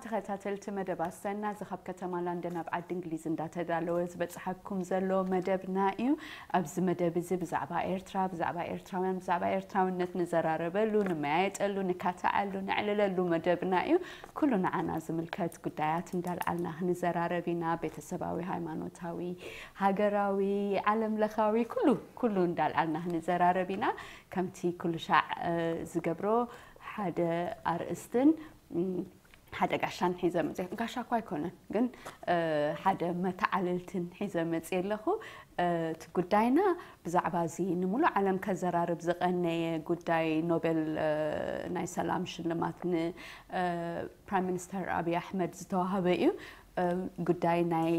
ተኸታተልቲ መደብ ኣሰና፣ እዚ ካብ ከተማ ለንደን ኣብ ዓዲ እንግሊዝ እንዳተዳለወ ዝበጽሓኩም ዘሎ መደብና እዩ። ኣብዚ መደብ እዚ ብዛዕባ ኤርትራ፣ ብዛዕባ ኤርትራውያን፣ ብዛዕባ ኤርትራውነት ንዘራረበሉ፣ ንመያየጠሉ፣ ንካትዓሉ፣ ነዕልለሉ መደብና እዩ። ኩሉ ንዓና ዝምልከት ጉዳያት እንዳልዓልና ክንዘራረብ ኢና። ቤተሰባዊ፣ ሃይማኖታዊ፣ ሃገራዊ፣ ዓለም ለኻዊ፣ ኩሉ፣ ኩሉ እንዳልዓልና ክንዘራረብ ኢና። ከምቲ ኩሉ ሻዕ ዝገብሮ ሓደ ኣርእስትን ሓደ ጋሻን ሒዘ መፅእ። ጋሻ እኳ ኣይኮነን፣ ግን ሓደ መተዓልልትን ሒዘ መፅእ ኣለኹ። እቲ ጉዳይና ብዛዕባ እዚ ንሙሉእ ዓለም ከዘራርብ ዝቐነየ ጉዳይ፣ ኖቤል ናይ ሰላም ሽልማት ንፕራይም ሚኒስተር ኣብይ ኣሕመድ ዝተዋህበ እዩ። ጉዳይ ናይ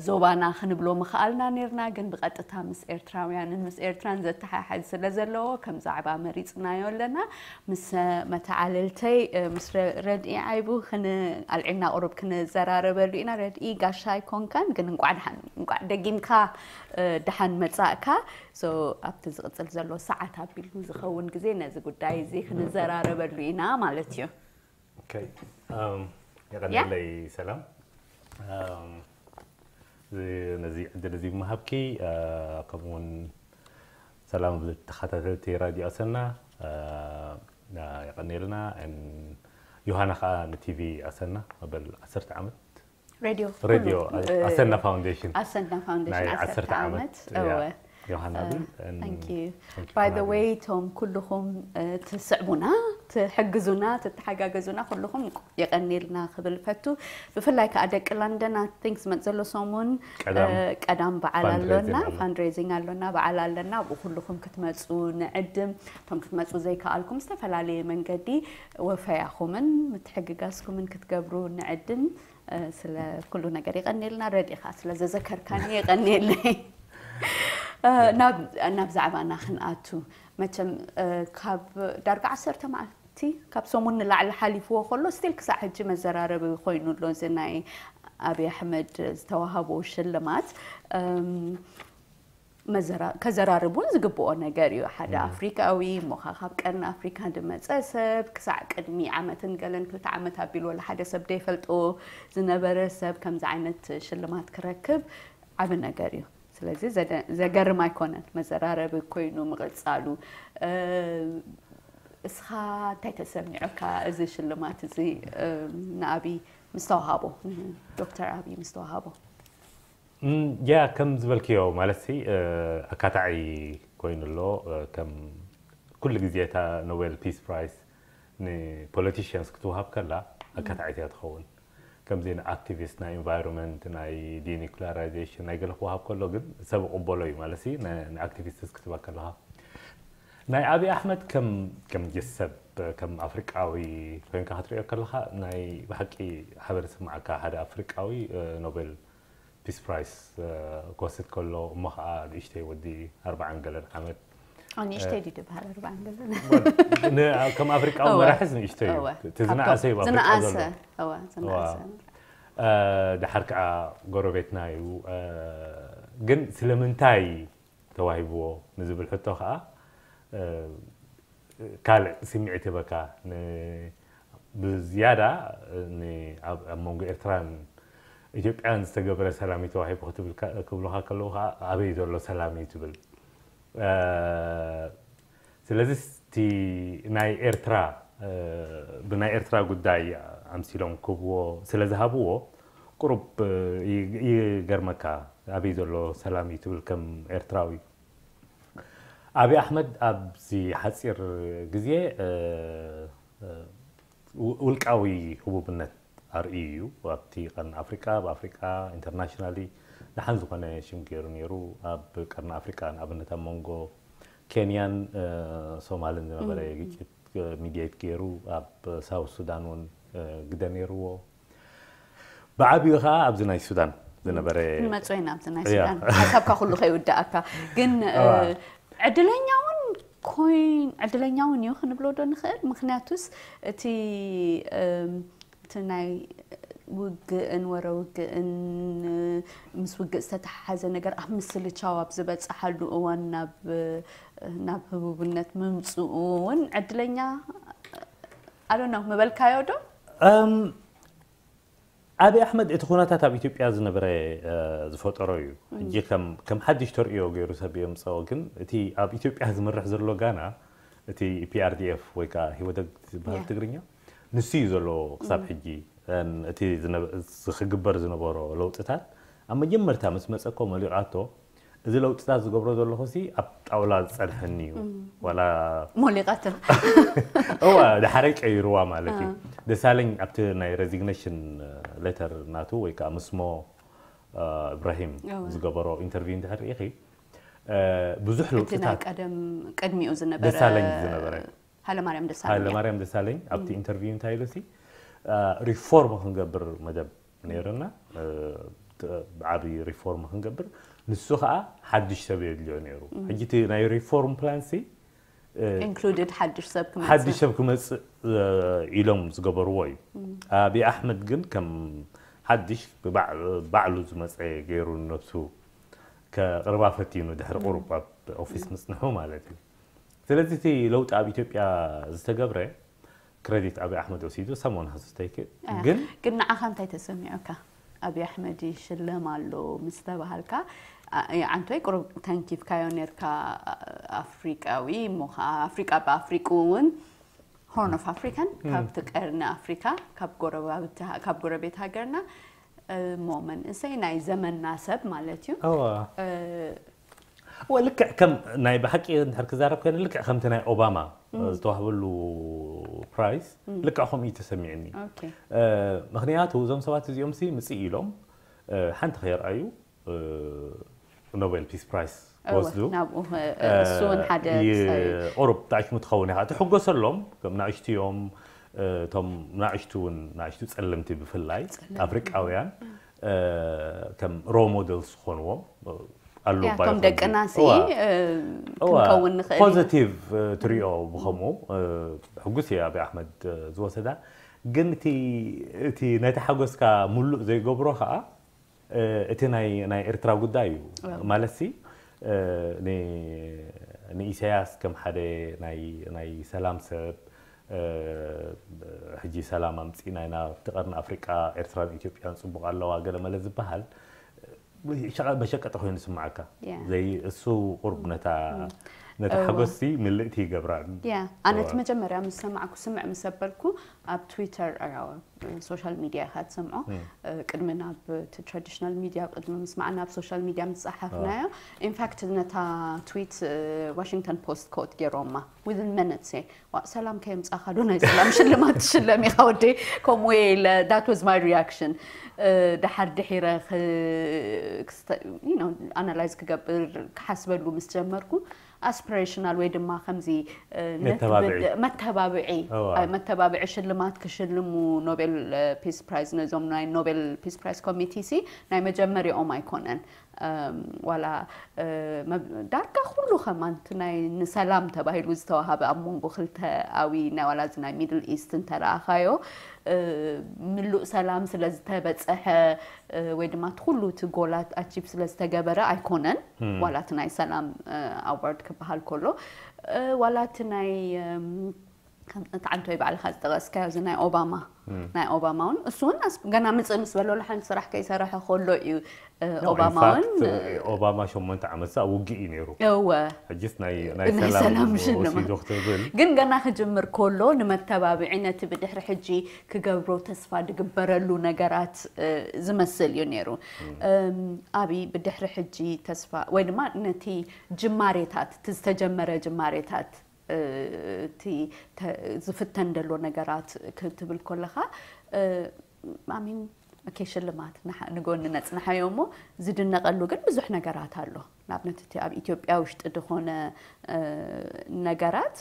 ዞባና ክንብሎ ምኽኣልና ነርና፣ ግን ብቐጥታ ምስ ኤርትራውያንን ምስ ኤርትራን ዘተሓሕዝ ስለ ዘለዎ ከም ዛዕባ መሪጽናዮ ኣለና። ምስ መተዓልልተይ ምስ ረድኢ ዓይቡ ኣልዒልና ቁሩብ ክንዘራረበሉ ኢና። ረድኢ፣ ጋሻ ኣይኮንካን፣ ግን እንቋዕ ደሓን፣ እንቋዕ ደጊምካ ደሓን መጻእካ። So ኣብቲ ዝቕጽል ዘሎ ሰዓት ኣቢሉ ዝኸውን ግዜ ነዚ ጉዳይ እዚ ክንዘራረበሉ ኢና ማለት እዩ። የቐንለይ ሰላም፣ ነዚ ዕድል እዚ ምሃብኪ፣ ከምኡውን ሰላም ተኸታተልቲ ራድዮ ኣሰና። የቐንየልና። ዮሃና ከዓ ንቲቪ ኣሰና መበል ዓሰርተ ዓመት ሬድዮ ሬድዮ ኣሰና ፋውንዴሽን ኣሰና ፋውንዴሽን ናይ ዓሰርተ ዓሰርተ ዓመት ዓመት እወ ዮሃና ብል Thank you. By the way፣ ቶም ኩልኹም ትስዕቡና፣ ትሕግዙና፣ ትተሓጋገዙና ኩልኹም የቐንየልና ክብል ፈቱ። ብፍላይ ከዓ ደቂ ለንደን፣ I think ዝመጽእ ዘሎ ሰሙን ቀዳም ቀዳም በዓል fundraising ኣሎና፣ ኣሎ። Fundraising ኣሎና፣ በዓል ኣለና። ኣብኡ ኩልኹም ክትመጹ ንዕድም። እቶም ክትመጹ ዘይከኣልኩም ዝተፈላለየ መንገዲ ወፈያኹምን ምትሕግጋዝኩምን ክትገብሩ ንዕድም። ስለ ኩሉ ነገር የቐንየልና። ረድኢ ከዓ ስለ ዘዘከርካኒ የቐንየለይ። ናብ ዛዕባና ክንኣቱ፣ መቸም ካብ ዳርጋ ዓሰርተ መዓልቲ፣ ካብ ሰሙን ንላዕሊ ሓሊፍዎ ከሎ፣ ስቲል ክሳዕ ሕጂ መዘራረቢ ኮይኑ ኣሎ እዚ ናይ ኣብይ ኣሕመድ ዝተዋሃቦ ሽልማት። ከዘራርብ እውን ዝግብኦ ነገር እዩ። ሓደ ኣፍሪካዊ እሞ ኸዓ ካብ ቀርኒ ኣፍሪካ ዝመፀ ሰብ፣ ክሳዕ ቅድሚ ዓመትን ገለን ክልተ ዓመት ኣቢሉ ወላ ሓደ ሰብ ዘይፈልጦ ዝነበረ ሰብ ከምዚ ዓይነት ሽልማት ክረክብ ዓቢ ነገር እዩ። ስለዚ ዘገርም ኣይኮነን፣ መዘራረቢ ኮይኑ ምቕፃሉ። እስኻ እንታይ ተሰሚዑካ እዚ ሽልማት እዚ ንኣብይ ምስተዋሃቦ፣ ዶክተር ኣብይ ምስተዋሃቦ? ያ ከም ዝበልክዮ ማለት ሲ ኣካታዒ ኮይኑ ኣሎ። ከም ኩሉ ግዜ እታ ኖቤል ፒስ ፕራይስ ንፖለቲሽንስ ክትወሃብ ከላ ኣካታዒት እያ ትኸውን። ከምዚ ንኣክቲቪስት ናይ ኢንቫይሮንመንት ናይ ዲኒኩላራይዜሽን ናይ ገለ ክወሃብ ከሎ ግን ሰብ ይቕበሎ እዩ ማለት ሲ ንኣክቲቪስትስ ክትባ ከለኻ ናይ ኣብይ ኣሕመድ ከም ከም ሰብ ከም ኣፍሪቃዊ ኮይንካ ክትሪኦ ከለኻ ናይ ብሓቂ ሓበን ዝስምዓካ ሓደ ኣፍሪቃዊ ኖቤል ፒስ ፕራይስ ክወስድ ከሎ እሞ ከዓ ንእሽተይ ወዲ ኣርባዓን ገለን ዓመት ንእሽተይ ድዩ ዝበሃል ኣርባዓን ገለን ከም ኣፍሪቃዊ መራሕስ ንእሽተይ እዩ እቲ ዝነኣሰ እዩ ኣፍሪቃ ዘሎ ዝነኣሰ ድሓር ከዓ ጎረቤትና እዩ ግን ስለምንታይ ተዋሂብዎ ንዝብል ሕቶ ከዓ ካልእ ስምዒት ይህበካ። ብዝያዳ ኣብ መንጎ ኤርትራን ኢትዮጵያን ዝተገበረ ሰላም እዩ ተዋሂቡ ክብሉኻ ከለዉ ከዓ ኣበይ ዘሎ ሰላም እዩ ትብል። ስለዚ እቲ ናይ ኤርትራ ብናይ ኤርትራ ጉዳይ ኣምሲሎም ክብዎ ስለ ዝሃብዎ ቁሩብ ይገርመካ። ኣበይ ዘሎ ሰላም እዩ ትብል ከም ኤርትራዊ። ኣብይ ኣሕመድ ኣብዚ ሓፂር ግዜ ውልቃዊ ህቡብነት ኣርእዩ እዩ። ኣብቲ ቀርኒ ኣፍሪቃ፣ ኣብ ኣፍሪቃ ኢንተርናሽናሊ ደሓን ዝኾነ ሽም ገይሩ ነይሩ። ኣብ ቀርኒ ኣፍሪቃ ንኣብነት ኣብ መንጎ ኬንያን ሶማልን ዝነበረ ግጭት ሚድየት ገይሩ ኣብ ሳውት ሱዳን እውን ግደ ነይርዎ። ብዓብዩ ከዓ ኣብዚ ናይ ሱዳን ዝነበረ ክንመፅኦ ኢና ኣብዚ ናይ ሱዳን ሓሳብካ ኩሉ ከይውዳእካ ግን ዕድለኛ እውን ኮይን ዕድለኛ እውን እዩ ክንብሎ ዶ ንኽእል? ምክንያቱስ እቲ እቲ ናይ ውግእን ወረ ውግእን ምስ ውግእ ዝተተሓሓዘ ነገር ኣብ ምስልቻው ኣብ ዝበፀሓሉ እዋን ናብ ናብ ህቡብነት ምምፅኡ እውን ዕድለኛ ኣሎና ምበልካዮ ዶ? ኣቢ ኣሕመድ እቲ ኩነታት ኣብ ኢትዮጵያ ዝነበረ ዝፈጠሮ እዩ። ሕጂ ከም ሓድሽ ተርእዮ ገይሩ ሰብ የምፀኦ። ግን እቲ ኣብ ኢትዮጵያ ዝምርሕ ዘሎ ጋና፣ እቲ ፒኣርዲኤፍ ወይ ከዓ ህወደግ ዝበሃል ትግርኛ፣ ንሱ እዩ ዘሎ ክሳብ ሕጂ። እቲ ክግበር ዝነበሮ ለውጥታት ኣብ መጀመርታ ምስ መፀ እኮ መሊቓቶ፣ እዚ ለውጥታት ዝገብሮ ዘለኹ ሲ ኣብ ጣውላ ዝፀንሐኒ እዩ። ዋላ ሞሊቓቶ። እዋ፣ ዳሕረይ ቀይርዋ ማለት እዩ። ደሳለኝ ኣብቲ ናይ ሬዚግኔሽን ሌተር ናቱ ወይ ከዓ ምስሞ እብራሂም ዝገበሮ ኢንተርቪው እንድሕር ርኢኺ፣ ብዙሕ ለውጥታት ቀደም ቅድሚኡ ዝነበረ ደሳለኝ ዝነበረ ሃለማርያም ደሳለኝ ሃይለማርያም ደሳለኝ ኣብቲ ኢንተርቪው እንታይ ኢሉ ሲ፣ ሪፎርም ክንገብር መደብ ነይርና፣ ዓብዪ ሪፎርም ክንገብር፣ ንሱ ከዓ ሓድሽ ሰብ የድልዮ ነይሩ። ሕጂ እቲ ናይ ሪፎርም ፕላን ሲ ኢንክሉድድ ሓድሽ ሰብ ክመፅእ ሓድሽ ሰብ ክመፅእ ኢሎም ዝገበርዎ እዩ። ኣብይ ኣሕመድ ግን ከም ሓድሽ ባዕሉ ዝመፀ ገይሩ ንነብሱ ከቕርባ ፈቲኑ፣ ድሕሪ ቁሩብ ኣብ ኦፊስ ምፅንሑ ማለት እዩ። ስለዚ እቲ ለውጢ ኣብ ኢትዮጵያ ዝተገብረ ክረዲት ኣብይ ኣሕመድ ወሲዱ፣ ሰሞን ሃስስታይክ ግን ግን ንዓኻ እንታይ ተሰሚዑካ? ኣብይ ኣሕመድ ይሽለም ኣሎ ምስ ተባሃልካ፣ ዓንቶይ ቁሩብ ተንኪፍካዮ ነርካ። ኣፍሪቃዊ እሞ ከዓ ኣፍሪቃ ብኣፍሪቁ እውን ሆርን ኦፍ ኣፍሪካን ካብቲ ቀርኒ ኣፍሪካ ካብ ጎረቤት ሃገርና እሞ መንእሰይ ናይ ዘመንና ሰብ ማለት እዩ። እዋ ልክዕ ከም ናይ ብሓቂ እንድሕር ክዛረብ ኮይነ፣ ልክዕ ከምቲ ናይ ኦባማ ዝተዋህበሉ ፕራይስ ልክዕ ከምኡ እዩ ተሰሚዕኒ። ምክንያቱ እዞም ሰባት እዚኦም ሲ ምፅእ ኢሎም ሓንቲ ከየርኣዩ ኖቤል ፒስ ፕራይስ ወስዱ። ናብኡ እሱ እውን ሓደ ቁሩብ ጣዕሽሙ ትኸውን ኢኻ ትሕጎሰሎም። ከም ናእሽቱ እዮም እቶም ናእሽቱ እውን ናእሽቱ ፀለምቲ ብፍላይ ኣፍሪቃውያን ከም ሮ ሞደልስ ዝኾንዎም ኣሉ ቶም ደቅና ሲ ክንከውን ንኽእል። ፖዘቲቭ ትሪኦ ብኸምኡ ሕጉስ እየ ኣብይ ኣሕመድ ዝወሰዳ። ግን እቲ ነቲ ሓጎስካ ሙሉእ ዘይገብሮ ከዓ እቲ ናይ ኤርትራ ጉዳይ እዩ። ማለት ሲ ንኢሳያስ ከም ሓደ ናይ ሰላም ሰብ ሕጂ ሰላም ኣምፂእና ኢና ኣብቲ ቀርኒ ኣፍሪቃ ኤርትራን ኢትዮጵያን ፅቡቅ ኣለዋ ገለ መለ ዝበሃል መሸቀጢ ኮይኑ ስምዓካ። ዘይ እሱ ቁርብ ነታ ነታ ሓጎስቲ ምልእቲ ይገብራን። ኣነ እቲ መጀመርያ ምስ ሰማዕኩ ስምዕ ምስ ኣበልኩ ኣብ ትዊተር ሶሻል ሚድያ ኢኻ ትሰምዖ። ቅድሚ ናብ ትራዲሽናል ሚድያ ቅድሚ ምስማዕና ኣብ ሶሻል ሚድያ ምስ ፀሓፍናዮ ኢንፋክት ነታ ትዊት ዋሽንግተን ፖስት ኮት ገይሮማ ዊዝን ሚኒትስ እየ ሰላም ከየምፃእካ ዶ ናይ ሰላም ሽልማት ትሽለም ኢኻ ወደይ? ከምኡ ኢለ that was my reaction። ድሓር ድሒረ ኣናላይዝ ክገብር ክሓስበሉ ምስ ጀመርኩ ኣስፒሬሽናል ወይ ድማ ከምዚ መተባብዒ መተባብዒ ሽልማት ክሽልሙ ኖቤል ፒስ ፕራይዝ ነዞም ናይ ኖቤል ፒስ ፕራይዝ ኮሚቴ ሲ ናይ መጀመሪኦም ኣይኮነን። ዋላ ዳርጋ ኩሉ ከማን እቲ ናይ ንሰላም ተባሂሉ ዝተዋሃበ ኣብ መንጎ ክልተ ኣዊ ናይ ዋላ እዚ ናይ ሚድል ኢስት እንተረኣኻዮ ምሉእ ሰላም ስለ ዝተበፀሐ ወይ ድማ እቲ ኩሉ እቲ ጎላት ኣቺቭ ስለ ዝተገበረ ኣይኮነን። ዋላ እቲ ናይ ሰላም ኣዋርድ ክበሃል ከሎ ዋላ እቲ ናይ እቲ ዓንቶይ ባዕልካ ዝጠቀስካዮ እዚ ናይ ኦባማ ናይ ኦባማ እውን እሱ እውን ገና ምፅእ ምስ በሎ ሓንቲ ስራሕ ከይሰረሐ ከሎ እዩ። ኦባማ እውን ኦባማ ሸሞንተ ዓመት ሳ ውግእ እዩ ነይሩ። እወ ሕጅስ ናይ ሰላም ሽልማት ክትብል ግን ገና ክጅምር ከሎ ንመተባብዒ ነቲ ብድሕሪ ሕጂ ክገብሮ ተስፋ ዝግበረሉ ነገራት ዝመስል እዩ ነይሩ። ኣብይ ብድሕሪ ሕጂ ተስፋ ወይ ድማ ነቲ ጅማሬታት እቲ ዝተጀመረ ጅማሬታት እቲ ዝፍተን ዘሎ ነገራት ክትብል ከለኻ ኣሚን ኦኬ ሽልማት ንጎኒ ነፅንሓዮ እሞ ዝድነቀሉ ግን ብዙሕ ነገራት ኣሎ። ንኣብነት እቲ ኣብ ኢትዮጵያ ውሽጢ ዝኾነ ነገራት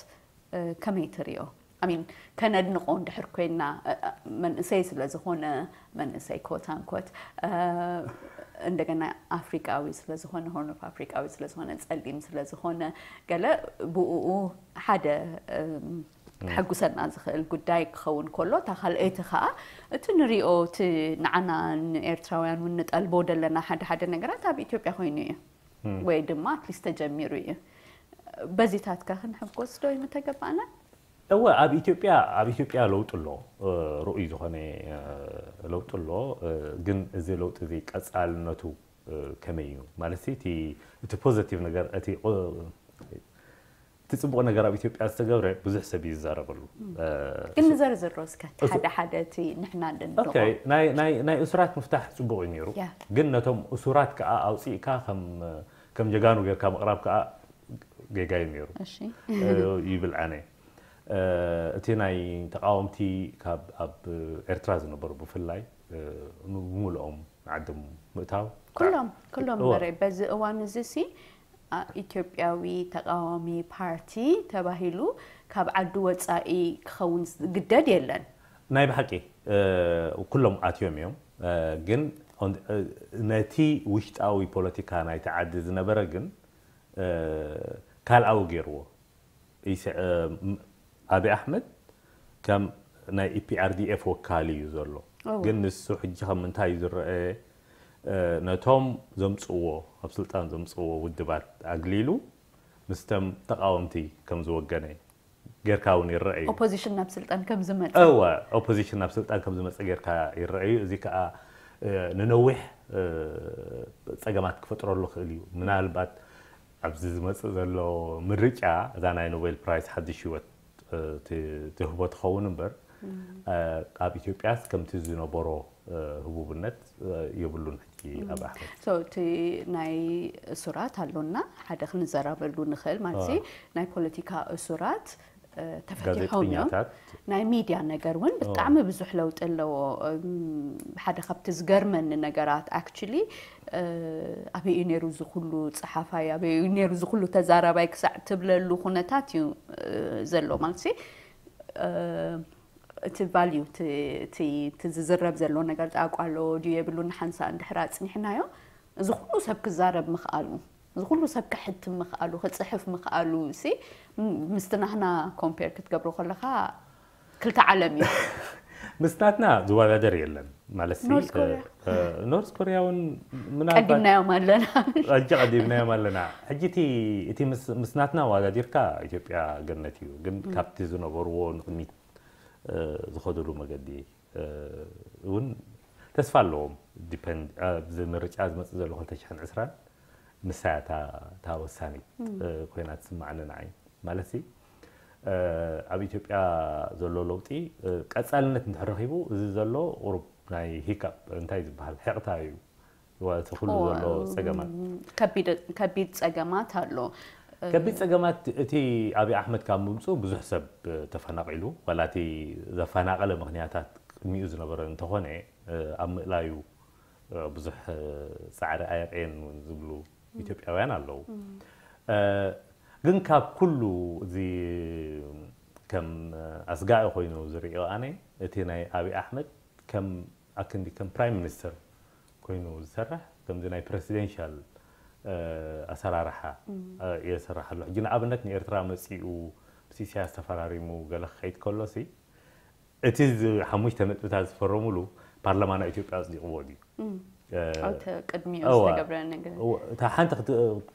ከመይ ትሪኦ? ኣሚን ከነድንቆ እንድሕር ኮይና መንእሰይ ስለ ዝኾነ መንእሰይ ኮት ኣንኮት እንደገና ኣፍሪቃዊ ስለ ዝኾነ ሆርን ኦፍ ኣፍሪቃዊ ስለ ዝኾነ ጸሊም ስለ ዝኾነ ገለ ብኡ ሓደ ከሐጉሰና ዝኽእል ጉዳይ ክኸውን ከሎ እታ ካልኣይቲ ከዓ እቲ ንሪኦ እቲ ንዓና ንኤርትራውያን እውን ንጠልቦ ዘለና ሓደ ሓደ ነገራት ኣብ ኢትዮጵያ ኮይኑ እዩ ወይ ድማ ኣትሊስት ተጀሚሩ እዩ። በዚታት ከ ክንሕጎስ ዶ ይምተገባእና? እወ ኣብ ኢትዮጵያ ኣብ ኢትዮጵያ ለውጢ ኣሎ። ርኡይ ዝኾነ ለውጢ ኣሎ። ግን እዚ ለውጢ እዚ ቀፃልነቱ ከመይ እዩ ማለት እቲ እቲ ፖዘቲቭ ነገር እቲ እቲ ፅቡቕ ነገር ኣብ ኢትዮጵያ ዝተገብረ ብዙሕ ሰብ እዩ ዝዛረበሉ። ግን ንዘርዝሮ እስከ ሓደ ሓደ እቲ ንሕና ናይ እሱራት ምፍታሕ ፅቡቕ እዩ ነይሩ። ግን ነቶም እሱራት ከዓ ኣውፅእካ ከም ጀጋኑ ጌርካ ምቕራብ ከዓ ጌጋ እዩ ነይሩ ይብል ኣነ። እቲ ናይ ተቃወምቲ ካብ ኣብ ኤርትራ ዝነበሩ ብፍላይ ብምልኦም ዓዶም ምእታው ኩሎም ኩሎም በረ በዚ እዋን እዚ ሲ ኢትዮጵያዊ ተቃዋሚ ፓርቲ ተባሂሉ ካብ ዓዲ ወፃኢ ክኸውን ዝግደድ የለን። ናይ ብሓቂ ኩሎም ኣትዮም እዮም። ግን ነቲ ውሽጣዊ ፖለቲካ ናይቲ ዓዲ ዝነበረ ግን ካልኣዊ ገይርዎ። ኣብይ ኣሕመድ ከም ናይ ኢፒኣርዲኤፍ ወካሊ እዩ ዘሎ። ግን ንሱ ሕጂ ከም ምንታይ እዩ ዝረአ? ነቶም ዘምፅዎ ኣብ ስልጣን ዘምፅዎ ውድባት ኣግሊሉ ምስተም ተቃወምቲ ከም ዝወገነ ጌርካ እውን ይረአ እዩ። ኦፖዚሽን ናብ ስልጣን ከም ዝመፀ እወ ኦፖዚሽን ናብ ስልጣን ከም ዝመፀ ጌርካ ይረአ እዩ። እዚ ከዓ ንነዊሕ ፀገማት ክፈጥረሉ ክእል እዩ። ምናልባት ኣብዚ ዝመፅእ ዘሎ ምርጫ እዛ ናይ ኖቤል ፕራይስ ሓድሽ ህይወት ትህቦ ትኸውን እምበር ኣብ ኢትዮጵያስ ከምቲ ዝነበሮ ህቡብነት የብሉን ሕጂ ኣብ ኣሕመድ። እቲ ናይ እሱራት ኣሎና ሓደ ክንዘራበሉ ንኽእል ማለት ናይ ፖለቲካ እሱራት ተፈቲሖም እዮም። ናይ ሚድያ ነገር እውን ብጣዕሚ ብዙሕ ለውጢ ኣለዎ። ሓደ ካብቲ ዝገርመኒ ነገራት ኣክቹሊ ኣበይ እዩ ነይሩ ዝኩሉ ፀሓፋይ ኣበይ እዩ ነይሩ ዝኩሉ ተዛራባይ ክሳዕ ትብለሉ ኩነታት እዩ ዘሎ ማለት እቲ ቫልዩ እቲ ዝዝረብ ዘሎ ነገር ጣቋ ኣለዎ ድዩ የብሉን ሓንሳ እንድሕር ኣፅኒሕናዮ እዚ ኩሉ ሰብ ክዛረብ ምኽኣሉ እዚ ኩሉ ሰብ ክሕትም ምኽኣሉ ክፅሕፍ ምኽኣሉ ሲ ምስቲ ናህና ኮምፔር ክትገብሮ ከለካ ክልተ ዓለም እዩ። ምስ ናትና ዝወዳደር የለን ማለት ኖርዝ ኮሪያ እውን ቀዲምናዮም ኣለና። ሕጂ ቀዲምናዮም ኣለና። ሕጂ እቲ ምስ ናትና ዋዳዲርካ ኢትዮጵያ ገነት እዩ። ግን ካብቲ ዝነበርዎ ንቅድሚት ዝኸድሉ መገዲ እውን ተስፋ ኣለዎም። ዲፐንድ ኣብዚ ምርጫ ዝመፅእ ዘሎ ክልተ ሽሕን ዕስራን ንሳ እያ እታ ወሳኒት ኮይና ትስማዓኒ ንዓይ። ማለት ኣብ ኢትዮጵያ ዘሎ ለውጢ ቀፃልነት እንድሕር ረኺቡ እዚ ዘሎ ቁሩብ ናይ ሂካፕ እንታይ ዝበሃል ሕቕታ እዩ። እቲ ኩሉ ዘሎ ፀገማት ከቢድ ፀገማት ኣሎ። ከቢድ ፀገማት እቲ ኣብይ ኣሕመድ ካብ ምምፅኡ ብዙሕ ሰብ ተፈናቒሉ ዋላ እቲ ዘፈናቐለ ምክንያታት ቅድሚኡ ዝነበረ እንተኾነ ኣብ ምእላዩ ብዙሕ ፃዕሪ ኣየቕየን እውን ዝብሉ ኢትዮጵያውያን ኣለዉ። ግን ካብ ኩሉ እዚ ከም ኣስጋኢ ኮይኑ ዝርእዮ ኣነ እቲ ናይ ኣብይ ኣሕመድ ከም ኣክንዲ ከም ፕራይም ሚኒስተር ኮይኑ ዝሰርሕ ከምዚ ናይ ፕረሲደንሻል ኣሰራርሓ እየ ዝሰርሕ ኣሎ። ሕጂ ንኣብነት ንኤርትራ መፂኡ ምስ ኢሳያስ ተፈራሪሙ ገለ ክኸይድ ከሎ ሲ እቲ ሓሙሽተ ነጥብታት ዝፈረሙሉ ፓርላማ ናይ ኢትዮጵያ ኣፅዲቕዎ ድዩ? ቅድሚኡ ዝተገብረ ነገር እታ ሓንቲ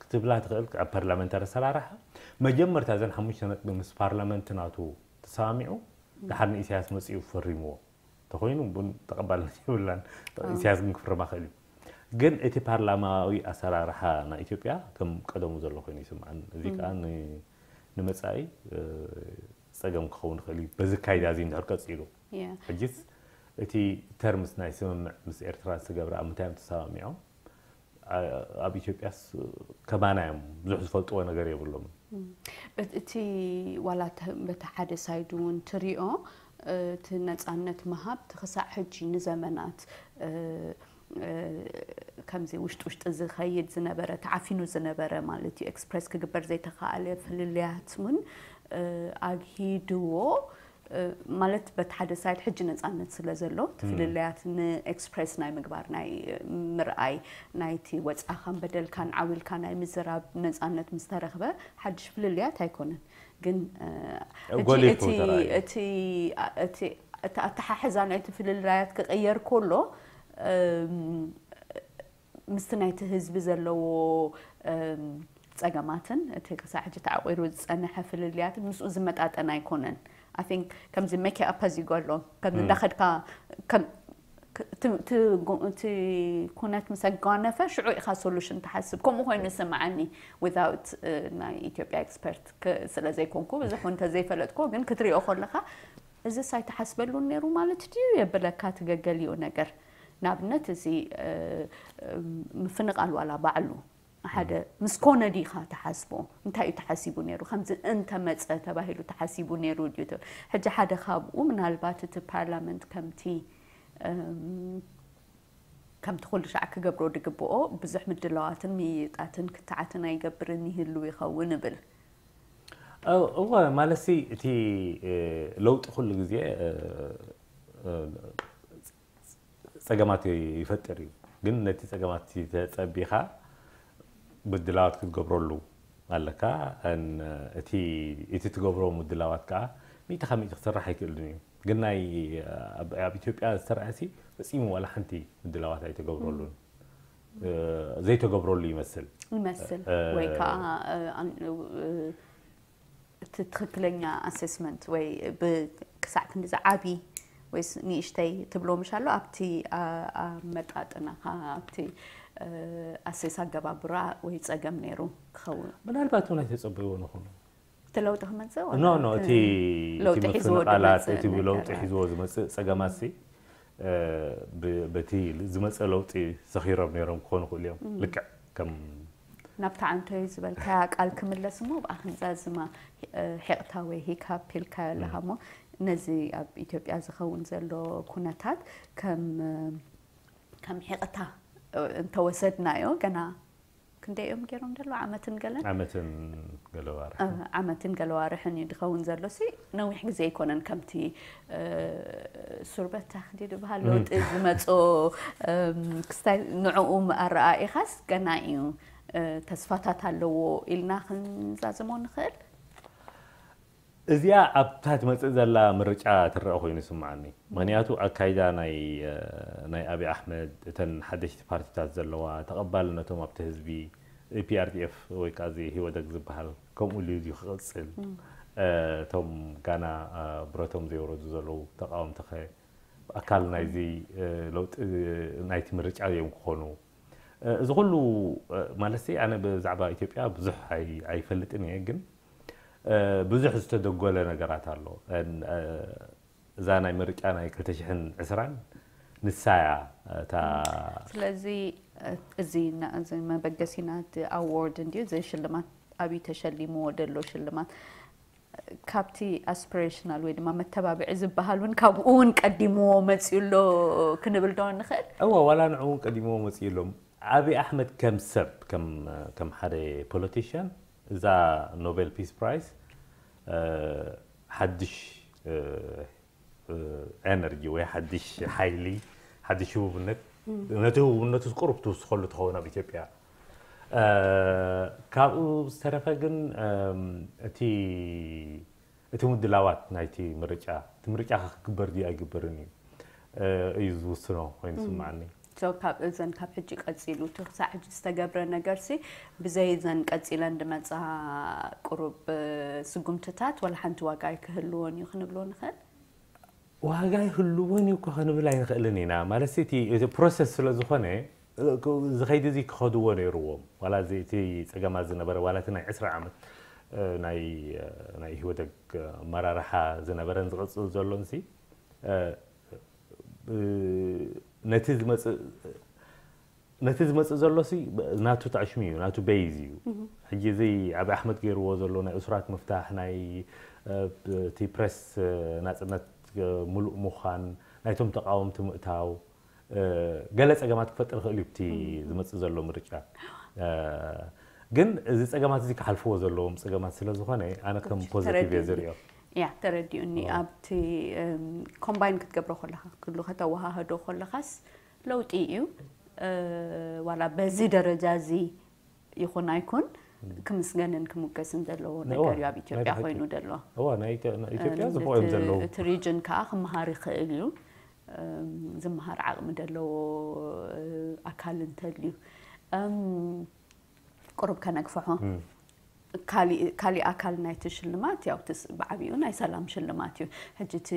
ክትብላ ትኽእል ኣብ ፓርላመንታሪ ኣሰራርሓ መጀመርታ እዘን ሓሙሽተ ነጥቢ ምስ ፓርላመንት ናቱ ተሰማሚዑ ድሓር ንኢሳያስ መፂኡ ፈሪምዎ ተኮይኑ ቡን ተቐባልነት የብላን። ኢሳያስ ግን ክፍርማ ክእል እዩ። ግን እቲ ፓርላማዊ ኣሰራርሓ ናይ ኢትዮጵያ ከም ቀደሙ ዘሎ ኮይኑ ይስምዓን። እዚ ከዓ ንመፃኢ ፀገም ክኸውን ይኽእል እዩ። በዚ ካይዳ እዚ እንድሕር ቀፂሉ ሕጂስ እቲ ተርምስ ናይ ስምምዕ ምስ ኤርትራ ዝተገብረ ኣብ ምንታይ እዮም ተሰማሚዖም? ኣብ ኢትዮጵያስ ከማና እዮም ብዙሕ ዝፈልጥዎ ነገር የብሎምን። እቲ ዋላ በቲ ሓደ ሳይድ እውን ትሪኦ እቲ ነፃነት ምሃብ ክሳዕ ሕጂ ንዘመናት ከምዚ ውሽጢ ውሽጢ ዝኸይድ ዝነበረ ተዓፊኑ ዝነበረ ማለት እዩ ኤክስፕረስ ክግበር ዘይተኸኣለ ፍልልያት እውን ኣግሂድዎ ማለት በቲ ሓደ ሳይድ ሕጂ ነፃነት ስለ ዘሎ እቲ ፍልልያት ንኤክስፕረስ ናይ ምግባር ናይ ምርኣይ ናይቲ ወፃኻን በደልካን ዓው ኢልካ ናይ ምዝራብ ነፃነት ምስ ተረኽበ ሓድሽ ፍልልያት ኣይኮነን ግን እቲ ኣተሓሕዛ ናይቲ ፍልልያት ክቕየር ከሎ ምስቲ ናይቲ ህዝቢ ዘለዎ ፀገማትን እቲ ክሳዕ ሕጂ ተዓቂሩ ዝፀንሐ ፍልልያትን ምስኡ ዝመጣጠን ኣይኮነን። I think ከምዚ make up እዚ ይጎሎ ከም እንዳኸድካ ከም እቲ ኩነት ምስ ኣጓነፈ ሽዑ ኢኻ solution ትሓስብ። ከምኡ ኮይኑ ዝስምዓኒ without ናይ ኢትዮጵያ expert ስለ ዘይኮንኩ ብዙሕ እውን እንተዘይፈለጥኩ ግን ክትሪኦ ከለኻ እዚስ ኣይተሓስበሉን ነይሩ ማለት ድዩ የብለካ እቲ ገገሊኡ ነገር። ንኣብነት እዚ ምፍንቓል ዋላ ባዕሉ ሓደ ምስ ኮነ ዲኻ ትሓስቦ እንታይ እዩ ተሓሲቡ ነይሩ ከምዚ እንተመፀ ተባሂሉ ተሓሲቡ ነይሩ ድዩ ትብል። ሕጂ ሓደ ካብኡ ምናልባት እቲ ፓርላመንት ከምቲ ከምቲ ኩሉ ሻዕ ክገብሮ ድግብኦ ብዙሕ ምድላዋትን ምይይጣትን ክትዓትን ኣይገብርን ይህሉ ይኸውን እብል። እወ ማለትሲ እቲ ለውጢ ኩሉ ግዜ ፀገማት ይፈጥር እዩ። ግን ነቲ ፀገማት ተፀቢኻ ምድላዋት ክትገብረሉ ኣለካ። እቲ ትገብሮ ምድላዋት ከዓ ሚእቲ ካብ ሚእቲ ክስራሕ ኣይክእልን እዩ። ግን ናይ ኣብ ኢትዮጵያ ዝተረኣሲ ፈፂሙ ዋላ ሓንቲ ምድላዋት ኣይተገብረሉን ዘይተገብረሉ ይመስል ይመስል ወይ ከዓ እቲ ትኽክለኛ assessment ወይ ክሳዕ ክንዲ ዝዓቢ ወይስ ንእሽተይ ትብሎ ምሽ ኣሎ ኣብቲ ኣመጣጥናኻ ኣብቲ ኣሴስ ኣገባብራ ወይ ፀገም ነይሩ ክኸውን ምናልባት እውን ኣይተፀበይዎ ንኾኑ እቲ ለውጢ ክመፅእ ኖ ኖ እቲ ለውጢ ሒዝዎ ቃላት እቲ ለውጢ ሒዝዎ ዝመፅእ ፀገማት ሲ በቲ ዝመፀ ለውጢ ሰኺሮም ነይሮም ክኾኑ ክእሉ እዮም ልክዕ ከም ናብቲ ዓንቶይ ዝበልካያ ቃል ክምለስ እሞ ብኣክንዛዝማ ሒቕታ ወይ ሂካፕ ኢልካዮ ኣለኻ እሞ ነዚ ኣብ ኢትዮጵያ ዝኸውን ዘሎ ኩነታት ከም ከም ሒቕታ እንተወሰድናዮ ገና ክንደይ እዮም ገይሮም ደሎ ዓመትን ገለን ዓመትን ገለዋር ዓመትን ገለዋርሕን እዩ ዝኸውን ዘሎ ሲ ነዊሕ ግዜ ኣይኮነን ከምቲ ሱርበት ታክዲ ዝበሃል ለውጢ ዝመፆ ክስታይ ንዕኡ ኣረኣኢኻስ ገና እዩ ተስፋታት ኣለዎ ኢልና ክንዛዝሞ ንኽእል እዚኣ ኣብታ ትመፅእ ዘላ ምርጫ ትረአ ኮይኑ ይስምዓኒ። ምክንያቱ ኣካይዳ ናይ ናይ ኣብይ ኣሕመድ እተን ሓደሽቲ ፓርቲታት ዘለዋ ተቐባልነቶም ኣብቲ ህዝቢ ፒኣርዲኤፍ ወይ ከዓ እዚ ህወደግ ዝበሃል ከምኡ ኢሉ ድዩ ክቕፅል እቶም ጋና ብረቶም ዘየውረዱ ዘለዉ ተቃወምቲ ከ ኣካል ናይዚ ለውጢ ናይቲ ምርጫ እዮም ክኾኑ እዚ ኩሉ ማለት ኣነ ብዛዕባ ኢትዮጵያ ብዙሕ ኣይፈልጥን እየ ግን ብዙሕ ዝተደጎለ ነገራት ኣሎ እዛ ናይ ምርጫ ናይ ክልተ ሽሕን ዕስራን ንሳያ እታ ስለዚ እዚ እዚ መበገሲና እቲ ኣዋርድ እንድዩ እዚ ሽልማት ኣብዩ ተሸሊምዎ ደሎ ሽልማት ካብቲ aspirational ወይ ድማ መተባብዒ ዝበሃል እውን ካብኡ እውን ቀዲምዎ መፅዩ ኣሎ ክንብል ዶ ንኽእል? እወ ዋላ ንዑ እውን ቀዲምዎ መፅዩ ኣሎ። ኣብይ ኣሕመድ ከም ሰብ ከም ሓደ politician እዛ Nobel Peace Prize ሓድሽ energy ወይ ሓድሽ ሓይሊ ሓድሽ ህቡብነት ነቲ ህቡብነቱ ቁሩብ ትውስኸሉ ትኸውን ኣብ ኢትዮጵያ ካብኡ ዝተረፈ ግን እቲ እቲ ምድላዋት ናይቲ ምርጫ እቲ ምርጫ ክግበር ድዩ ኣይግበርን እዩ እዩ ዝውስኖ ኮይኑ ስምዓኒ ካብ እዘን ካብ ሕጂ ቀፂሉ እቲ ክሳዕ ሕጂ ዝተገብረ ነገር ሲ ብዘይ እዘን ቀፂለን ድመፃ ቁሩብ ስጉምትታት ወላ ሓንቲ ዋጋ ኣይክህልዎን እዩ ክንብሎ ንኽእል ዋጋ ይህልዎን እዩ እኮ ክንብል ኣይንኽእልን ኢና ማለት እቲ ፕሮሰስ ስለ ዝኾነ ዝኸይድ እዚ ክኸድዎ ነይርዎም ዋላ እቲ ፀገማት ዝነበረ ዋላ እቲ ናይ ዕስራ ዓመት ናይ ናይ ህወደግ ኣመራርሓ ዝነበረን ዝቕፅል ዘሎን ሲ ነቲ ዝመፅእ ነቲ ዝመፅእ ዘሎ ሲ ናቱ ታዕሽሚ እዩ ናቱ በይዝ እዩ ሕጂ እዚ ኣብ ኣሕመድ ገይርዎ ዘሎ ናይ እሱራት ምፍታሕ ናይ እቲ ፕረስ ናፅነት ሙሉእ ምዃን ናይቶም ተቃወምቲ ምእታው ገለ ፀገማት ክፈጥር ይኽእል እዩ እቲ ዝመፅእ ዘሎ ምርጫ ግን እዚ ፀገማት እዚ ክሓልፍዎ ዘለዎም ፀገማት ስለ ዝኾነ ኣነ ከም ፖዚቲቭ እየ ዝሪኦ ያ ተረዲኡኒ ኣብቲ ኮምባይን ክትገብሮ ከለካ ክሉ ከተወሃህዶ ከለካስ ለውጢ እዩ ዋላ በዚ ደረጃ እዚ ይኹን ኣይኩን ክምስገንን ክሙገስን ዘለዎ ነገር እዩ ኣብ ኢትዮጵያ ኮይኑ ዘሎ ኢትዮጵያ ዝቦኦም ዘለዉ እቲ ሪጅን ከዓ ክመሃር ይኽእል እዩ ዝመሃር ዓቕሚ ዘለዎ ኣካል እንተልዩ ቁሩብ ከነግፍሖ ካሊእ ኣካል ናይቲ ሽልማት ያው ብዓቢኡ ናይ ሰላም ሽልማት እዩ። ሕጂ እቲ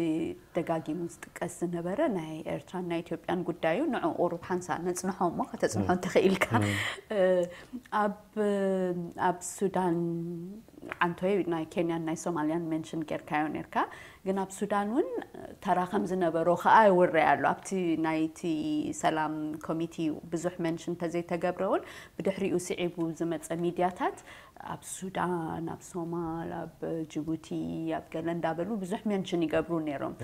ደጋጊሙ ዝጥቀስ ዝነበረ ናይ ኤርትራን ናይ ኢትዮጵያን ጉዳዩ ንዑ ቁሩብ ሓንሳ ነጽንሖ እሞ ከተጽንሖ እንተኽኢልካ ኣብ ኣብ ሱዳን ዓንቶይ ናይ ኬንያን ናይ ሶማልያን ሜንሽን ጌርካዮ ኔርካ። ግን ኣብ ሱዳን እውን ተራ ከም ዝነበሮ ከኣ ይውረይ ኣሎ። ኣብቲ ናይቲ ሰላም ኮሚቲ ብዙሕ ሜንሽን እንተዘይተገብረ እውን ብድሕሪኡ ስዒቡ ዝመጸ ሚድያታት ኣብ ሱዳን፣ ኣብ ሶማል፣ ኣብ ጅቡቲ፣ ኣብ ገለ እንዳበሉ ብዙሕ ሜንሽን ይገብሩ ነይሮም።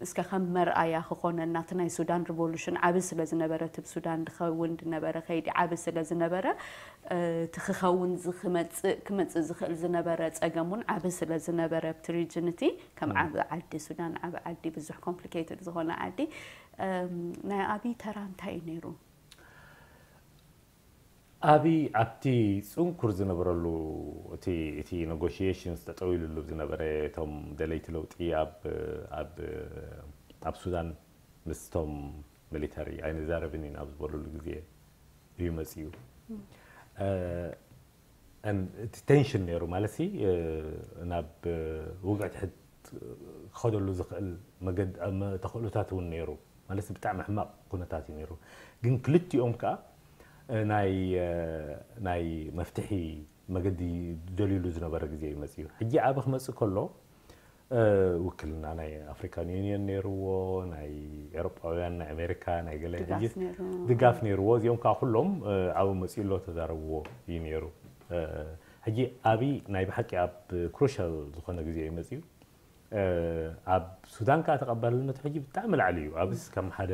እስከ ከም መርኣያ ክኾነና እቲ ናይ ሱዳን ሪቮሉሽን ዓቢ ስለ ዝነበረ እቲ ብሱዳን ድኸውን ድነበረ ከይዲ ዓቢ ስለ ዝነበረ እቲ ክኸውን ክመፅእ ዝኽእል ዝነበረ ፀገም እውን ዓቢ ስለ ዝነበረ ኣብቲ ሪጅን እቲ ከም ዓቢ ዓዲ ሱዳን ዓቢ ዓዲ ብዙሕ ኮምፕሊኬትድ ዝኾነ ዓዲ ናይ ኣብይ ተራ እንታይ እዩ ነይሩ? ኣብይ ኣብቲ ፅንኩር ዝነበረሉ እቲ እቲ ኔጎሽዬሽንስ ጠጠው ኢሉሉ ዝነበረ እቶም ደለይቲ ለውጢ ኣብ ኣብ ኣብ ሱዳን ምስቶም ሚሊተሪ ኣይንዛረብን ኢና ኣብ ዝበሉሉ ግዜ እዩ መፅኡ። እቲ ቴንሽን ነይሩ ማለት ናብ ውግእ ትሕት ክኸደሉ ዝኽእል ተኽእሎታት እውን ነይሩ። ማለት ብጣዕሚ ሕማቕ ኩነታት እዩ ነይሩ። ግን ክልቲኦም ከዓ ናይ ናይ መፍትሒ መገዲ ደልዩሉ ዝነበረ ግዜ እዩ መፅኡ። ሕጂ ዓቢ ክመፅእ ከሎ ውክልና ናይ ኣፍሪካን ዩኒየን ነይርዎ፣ ናይ ኤሮጳውያን፣ ናይ ኣሜሪካ፣ ናይ ገለ ድጋፍ ነይርዎ። እዚኦም ከዓ ኩሎም ዓቢ መፅኡ ኣሎ ተዛረብዎ እዩ ነይሩ። ሕጂ ኣብይ ናይ ብሓቂ ኣብ ክሩሻል ዝኾነ ግዜ እዩ መፅኡ። ኣብ ሱዳን ከዓ ተቐባልነቱ ሕጂ ብጣዕሚ ላዕሊ እዩ። ኣብስ ከም ሓደ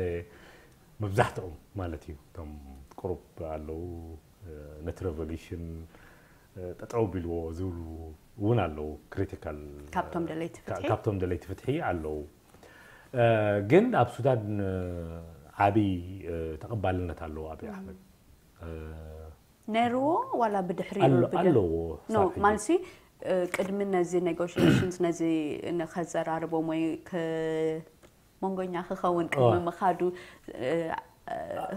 መብዛሕትኦም ማለት እዩ እቶም ቁሩብ ኣለዉ ነቲ ሬቮሉሽን ጠጠው ቢልዎ ዝብሉ እውን ኣለዉ። ክሪቲካል ካብቶም ደለይቲ ፍትሒ ካብቶም ደለይቲ ፍትሒ ኣለዉ። ግን ኣብ ሱዳን ዓብዪ ተቐባልነት ኣለዎ ኣብይ ኣሕመድ። ነይርዎ ዋላ ብድሕሪ ኣለዎ ማለትሲ ቅድሚ ነዚ ኔጎሽሽንስ ነዚ ንኸዘራርቦም ወይ መንጎኛ ክኸውን ቅድሚ ምኻዱ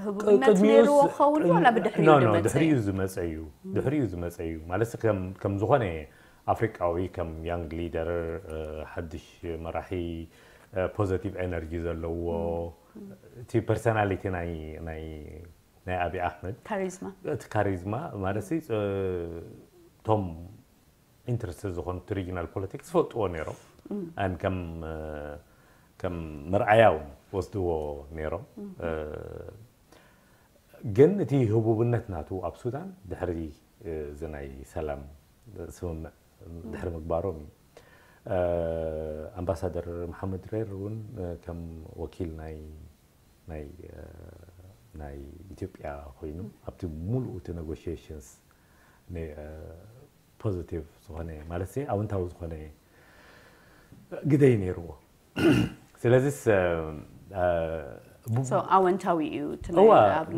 ህቡብነት ነይርዎ ክኸውን ዋላ ብድሕሪኡ ዝመፀ ድሕሪኡ ዝመፀ እዩ ድሕሪኡ ዝመፀ እዩ ማለት ከም ዝኾነ ኣፍሪቃዊ ከም ያንግ ሊደር ሓድሽ መራሒ ፖዘቲቭ ኤነርጂ ዘለዎ እቲ ፐርሰናሊቲ ናይ ናይ ናይ ኣብይ ኣሕመድ ካሪዝማ እቲ ካሪዝማ ማለት ቶም ኢንትረስትድ ዝኾኑ እቲ ሪጂናል ፖለቲክስ ዝፈልጥዎ ነይሮም ኣን ከም ከም መርኣያ እውን ወስድዎ ነይሮም። ግን እቲ ህቡብነት ናቱ ኣብ ሱዳን ድሕሪ እዚ ናይ ሰላም ስምምዕ ድሕሪ ምግባሮም እዩ። ኣምባሳደር መሓመድ ሬር እውን ከም ወኪል ናይ ናይ ናይ ኢትዮጵያ ኮይኑ ኣብቲ ሙሉእ እቲ ኔጎሽሽንስ ፖዚቲቭ ዝኾነ ማለት ኣወንታዊ ዝኾነ ግደይ ነይርዎ። ስለዚስ ኣወንታዊ እዩ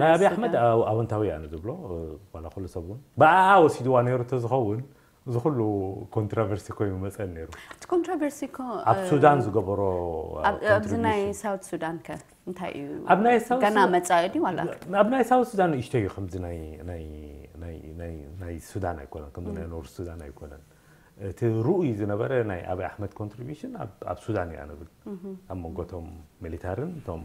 ናይ ኣብይ ኣሕመድ ኣወንታዊ ኣነ ዝብሎ ዋላ ኩሉ ሰብ እውን ብኣ ወሲድዋ ነይሩ ተዝኸውን እዚ ኩሉ ኮንትሮቨርሲ ኮይኑ መፀን ነይሩ። እቲ ኮንትሮቨርሲ እኮ ኣብ ሱዳን ዝገበሮ ኣብዚ ናይ ሳውት ሱዳን ከ እንታይ እዩ? ኣብ ናይ ሳውት ገና መፃኢ ድዩ ዋላ? ኣብ ናይ ሳውት ሱዳን ንእሽቶ እዩ ከምዚ ናይ ናይ ናይ ናይ ሱዳን ኣይኮነን ከምዚ ናይ ኖርት ሱዳን ኣይኮነን። እቲ ርኡይ ዝነበረ ናይ ኣብይ ኣሕመድ ኮንትሪቢሽን ኣብ ሱዳን እያ ንብል ኣብ መንጎቶም ሚሊታርን እቶም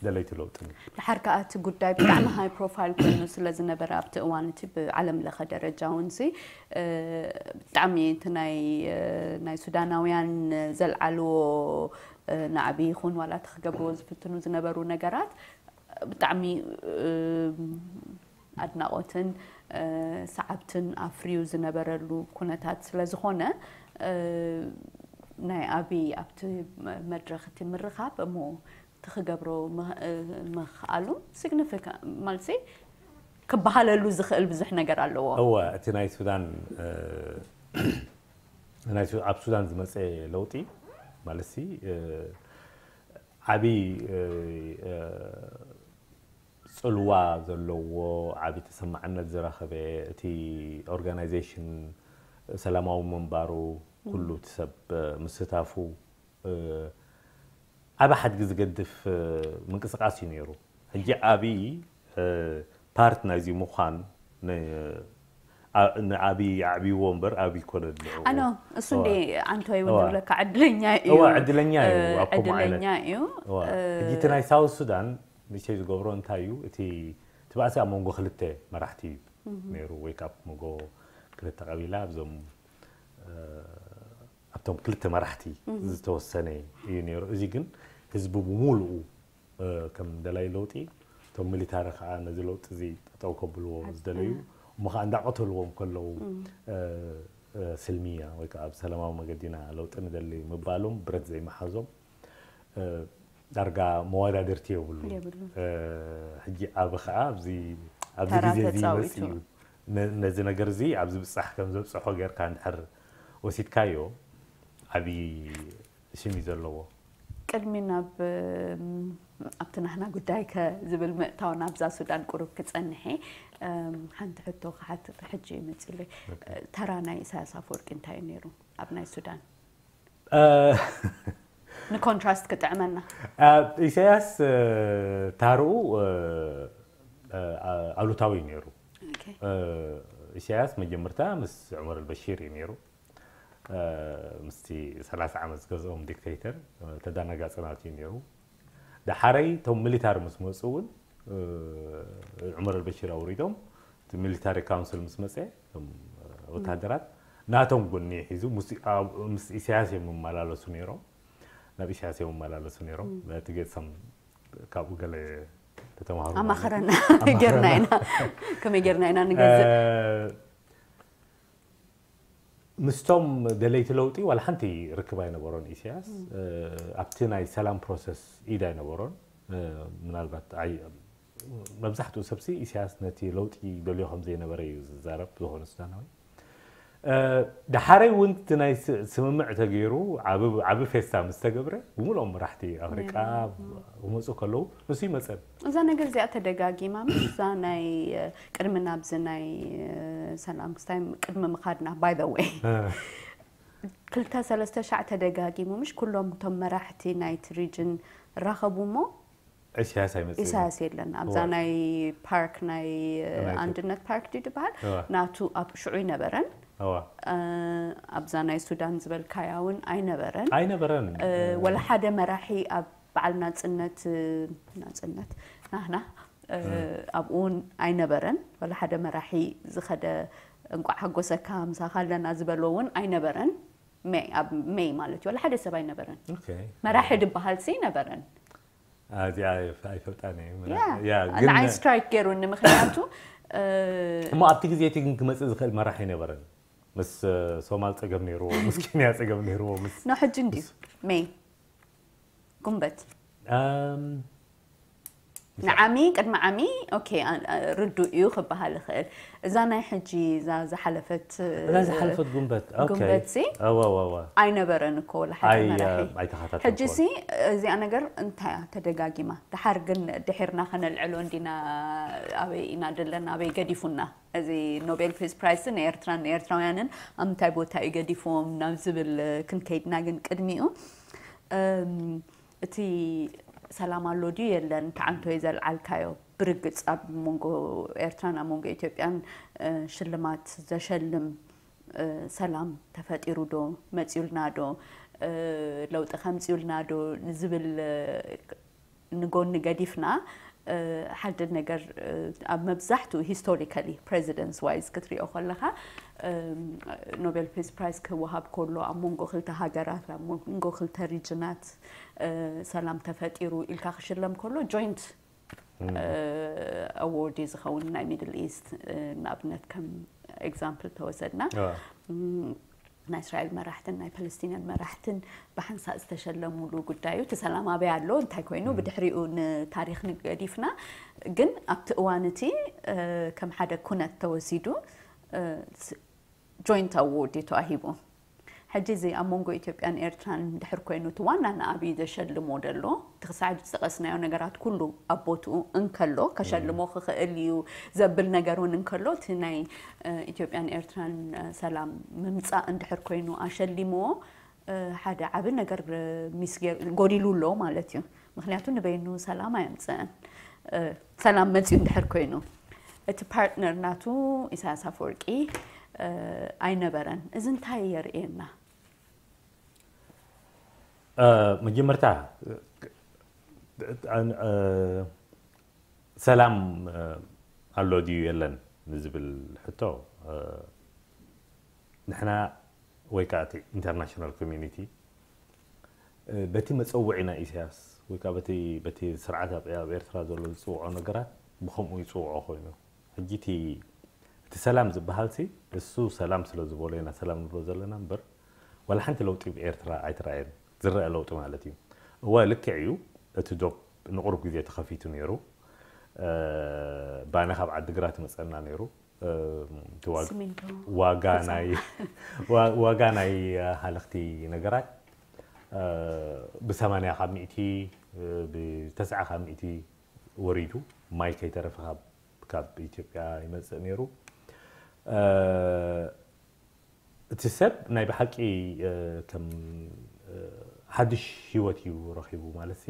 ደለይቲ ለውጥን እዩ። ድሓር ከኣ እቲ ጉዳይ ብጣዕሚ ሃይ ፕሮፋይል ኮይኑ ስለ ዝነበረ ኣብቲ እዋን እቲ ብዓለም ለኸ ደረጃ እውን ሲ ብጣዕሚ እቲ ናይ ናይ ሱዳናውያን ዘልዓልዎ ናዕቢ ይኹን ዋላ እቲ ክገብርዎ ዝፍትኑ ዝነበሩ ነገራት ብጣዕሚ ኣድናቖትን ሰዓብትን ኣፍርዩ ዝነበረሉ ኩነታት ስለ ዝኾነ ናይ ኣብይ ኣብቲ መድረኽ እቲ ምርኻብ እሞ እቲ ክገብሮ ምኽኣሉ ሲግኒፊካንት ማለት ክበሃለሉ ዝኽእል ብዙሕ ነገር ኣለዎ። እወ እቲ ናይ ሱዳን ናይ ሱ- ኣብ ሱዳን ዝመፀ ለውጢ ማለት ዓብዪ ፅልዋ ዘለዎ ዓብዪ ተሰማዕነት ዝረኸበ እቲ ኦርጋናይዜሽን ሰላማዊ ምንባሩ ኩሉ እቲ ሰብ ምስታፉ ዓቢ ሓድጊ ዝገድፍ ምንቅስቃስ እዩ ነይሩ። ሕጂ ዓቢ ፓርት ናይዚ ምዃን ንዓቢ ኣዕብይዎ እምበር ኣብ ይኮነ ድልዑ ኣኖ እሱ እንደ ኣንቶይ እውን ዝብለካ ዕድለኛ እዩ። እዋ ዕድለኛ እዩ ኣብ ከምኡ ዓይነት ዕድለኛ እዩ። እዋ ሕጂ እቲ ናይ ሳውት ሱዳን ንእሽተይ ዝገብሮ እንታይ እዩ? እቲ እቲ ባእሲ ኣብ መንጎ ክልተ መራሕቲ እዩ ነይሩ ወይ ካብ መንጎ ክልተ ቀቢላ ኣብዞም ኣብቶም ክልተ መራሕቲ ዝተወሰነ እዩ ነይሩ። እዚ ግን ህዝቢ ብምሉኡ ከም ደላይ ለውጢ እቶም ሚሊታሪ ከዓ ነዚ ለውጢ እዚ ጠጠው ከብልዎ ዝደለዩ እሞ ከዓ እንዳቀተልዎም ከለዉ ስልሚያ ወይ ከዓ ብሰላማዊ መገዲና ለውጢ ንደሊ ምባሎም ብረት ዘይመሓዞም ዳርጋ መወዳድርቲ የብሉ። ሕጂ ኣብ ከዓ ኣብዚ ኣብዚ ግዜ እዚ ይመፅ እዩ። ነዚ ነገር እዚ ኣብዚ ብፃሕ ከም ዘብፅሖ ጌርካ እንድሕር ወሲድካዮ ዓብዪ ሽም እዩ ዘለዎ። ቅድሚ ናብ ኣብቲ ናህና ጉዳይ ከዝብል ምእታው ናብዛ ሱዳን ቁሩብ ክፀንሐ ሓንቲ ሕቶ ክሓትት ሕጂ ይመፅለይ። ተራ ናይ ኢሳያስ ኣፈወርቂ እንታይ እዩ ነይሩ ኣብ ናይ ሱዳን? ንኮንትራስት ክጥዕመና። ኢሳያስ ታርኡ ኣሉታዊ እዩ ነይሩ። ኢሳያስ መጀመርታ ምስ ዑመር ኣልበሺር እዩ ነይሩ። ምስቲ ሰላሳ ዓመት ዝገዝኦም ዲክተይተር ተዳናጋፂ ናት እዩ ነይሩ። ዳሓረይ እቶም ሚሊታሪ ምስ መፁ እውን ዑመር ኣልበሽር ኣውሪዶም እቲ ሚሊታሪ ካውንስል ምስ መፀ እቶም ወታደራት ናቶም ጎኒ ሒዙ ምስ ኢሳያስ እዮም መመላለሱ ነይሮም። ናብ ኢሳያስ እዮም መመላለሱ ነይሮም። እቲ ገፅም ካብኡ ገለ ተተማሃሩ ኣማኸረና ጌርና ኢና። ከመይ ጌርና ኢና ንገዝእ? ምስቶም ደለይቲ ለውጢ ዋላ ሓንቲ ርክብ ኣይነበሮን ኢሳያስ። ኣብቲ ናይ ሰላም ፕሮሰስ ኢድ ኣይነበሮን። ምናልባት መብዛሕትኡ ሰብሲ ኢሳያስ ነቲ ለውጢ ደልዮ ከም ዘይነበረ እዩ ዝዛረብ ዝኾነ ሱዳናዊ። ዳሓረይ እውን እቲ ናይ ስምምዕ ተገይሩ ዓቢ ፌስታ ምስ ተገብረ ብምልኦም መራሕቲ ኣፍሪቃ ክመፁ ከለዉ ንሱ ይመፀን። እዛ ነገር እዚኣ ተደጋጊማ ምስ እዛ ናይ ቅድሚ ናብዚ ናይ ሰላም ክስታይ ቅድሚ ምኻድና by the way ክልተ ሰለስተ ሻዕ ተደጋጊሙ ምሽ ኩሎም እቶም መራሕቲ ናይቲ ሪጅን ራኸቡ እሞ ኢሳያስ ኣይመፅእ ኢሳያስ የለን ኣብዛ ናይ ፓርክ ናይ ኣንድነት ፓርክ ድዩ ዝበሃል ናቱ ኣብ ሽዑ ኣይነበረን። ኣብዛ ናይ ሱዳን ዝበልካያ እውን ኣይነበረን። ኣይነበረን። ወላ ሓደ መራሒ ኣብ በዓል ናፅነት ናፅነት ናህና ኣብኡ እውን ኣይነበረን። ወላ ሓደ መራሒ ዝኸደ እንቋዕ ሓጎሰካ ምሳኻ ኣለና ዝበሎ እውን ኣይነበረን። ሜይ ኣብ ሜይ ማለት እዩ። ወላ ሓደ ሰብ ኣይነበረን። መራሒ ድበሃል ሲ ነበረን። እዚኣ ኣይፈልጣን እየ። ንዓይ ስትራይክ ገይሩኒ ምክንያቱ እሞ ኣብቲ ግዜ እቲ ግን ክመፅእ ዝኽእል መራሒ ኣይነበረን። ምስ ሶማል ፀገም ነይርዎ፣ ምስ ኬንያ ፀገም ነይርዎ፣ ምስ ኖ ሕጂ እንድዩ ሜይ ጉንበት ንዓሚ ቅድሚ ዓሚ ኦኬ ርዱእ እዩ ክበሃል ይኽእል። እዛ ናይ ሕጂ እዛ ዝሓለፈት እዛ ዝሓለፈት ጉንበት ኦኬ። ጉንበት ሲ እዋ እዋ እዋ ኣይነበረን እኮ ወላ ሓደ ኣይ መራሒ። ኣይተኸታተልኩ ሕጂ ሲ እዚኣ ነገር እንታይ እያ ተደጋጊማ? ድሓር ግን ድሒርና ከነልዕሎ እንዲና ኣበይ ኢና ደለና ኣበይ ገዲፉና? እዚ ኖቤል ፕሪዝ ፕራይስ ንኤርትራን ንኤርትራውያንን ኣብ ምንታይ ቦታ እዩ ገዲፍዎም ናብ ዝብል ክንከይድና ግን ቅድሚኡ እቲ ሰላም ኣሎ ድዩ የለን ተዓንቶ ዘልዓልካዮ ብርግፅ ኣብ መንጎ ኤርትራን ኣብ መንጎ ኢትዮጵያን ሽልማት ዘሸልም ሰላም ተፈጢሩ ዶ መፂኡልና ዶ ለውጢ ከምፂኡልና ዶ ንዝብል ንጎኒ ገዲፍና ሓደ ነገር ኣብ መብዛሕትኡ ሂስቶሪካሊ ፕሬዚደንትስ ዋይዝ ክትሪኦ ከለካ ኖቤል ፕሪዝ ፕራይዝ ክወሃብ ከሎ ኣብ መንጎ ክልተ ሃገራት ኣብ መንጎ ክልተ ሪጅናት ሰላም ተፈጢሩ ኢልካ ክሽለም ከሎ ጆይንት ኣዎርድ እዩ ዝኸውን ናይ ሚድል ኢስት ንኣብነት ከም ኤግዛምፕል ተወሰድና ናይ እስራኤል መራሕትን ናይ ፓለስቲንያን መራሕትን ብሓንሳእ ዝተሸለሙሉ ጉዳዩ እቲ ሰላም ኣበይ ኣሎ እንታይ ኮይኑ ብድሕሪኡ ንታሪክ ንገዲፍና ግን ኣብቲ እዋን እቲ ከም ሓደ ኩነት ተወሲዱ ጆይንት ኣዎርድ እዩ ተዋሂቡ። ሕጂ እዚ ኣብ መንጎ ኢትዮጵያን ኤርትራን ድሕር ኮይኑ እቲ ዋና ንኣብይ ዘሸልሞ ደሎ እቲ ክሳዕ ዝጠቀስናዮ ነገራት ኩሉ ኣብ ቦትኡ እንከሎ ከሸልሞ ክኽእል እዩ ዘብል ነገር እውን እንከሎ እቲ ናይ ኢትዮጵያን ኤርትራን ሰላም ምምፃእ እንድሕር ኮይኑ ኣሸሊምዎ ሓደ ዓቢ ነገር ሚስ ጎዲሉ ኣሎ ማለት እዩ። ምክንያቱ ንበይኑ ሰላም ኣየምፅእን። ሰላም መፅኡ እንድሕር ኮይኑ እቲ ፓርትነር ናቱ ኢሳያስ ኣፈወርቂ ኣይነበረን። እዚ እንታይ የርእየና? መጀመርታ ሰላም ኣሎ ድዩ የለን ንዝብል ሕቶ፣ ንሕና ወይ ከዓ እቲ ኢንተርናሽናል ኮሚኒቲ በቲ መፀውዒ ናይ ኢሳያስ ወይ ከዓ በቲ በቲ ስርዓት ኣብ ኣብ ኤርትራ ዘሎ ዝፅውዖ ነገራት ብከምኡ ይፅውዖ ኮይኑ፣ ሕጂ እቲ እቲ ሰላም ዝበሃል ሲ እሱ ሰላም ስለ ዝበሎ ኢና ሰላም ንብሎ ዘለና እምበር፣ ዋላ ሓንቲ ለውጢ ብኤርትራ ኣይተራእየን። ዝረአ ለውጢ ማለት እዩ። እወ፣ ልክዕ እዩ። እቲ ዶብ ንቑሩብ ግዜ ተኸፊቱ ነይሩ። ባኒ ካብ ዓዲግራት ይመፀና ነይሩ። እቲ ዋግ- ሲሚንቶ ዋጋ ናይ ዋ- ዋጋ ናይ ሃለኽቲ ነገራት ብሰማንያ ካብ ሚእቲ ብተስዓ ካብ ሚእቲ ወሪዱ። ማይ ከይተረፈ ካብ ካብ ኢትዮጵያ ይመፅእ ነይሩ። እቲ ሰብ ናይ ብሓቂ ከም ሓድሽ ሂወት እዩ ረኺቡ ማለት ሲ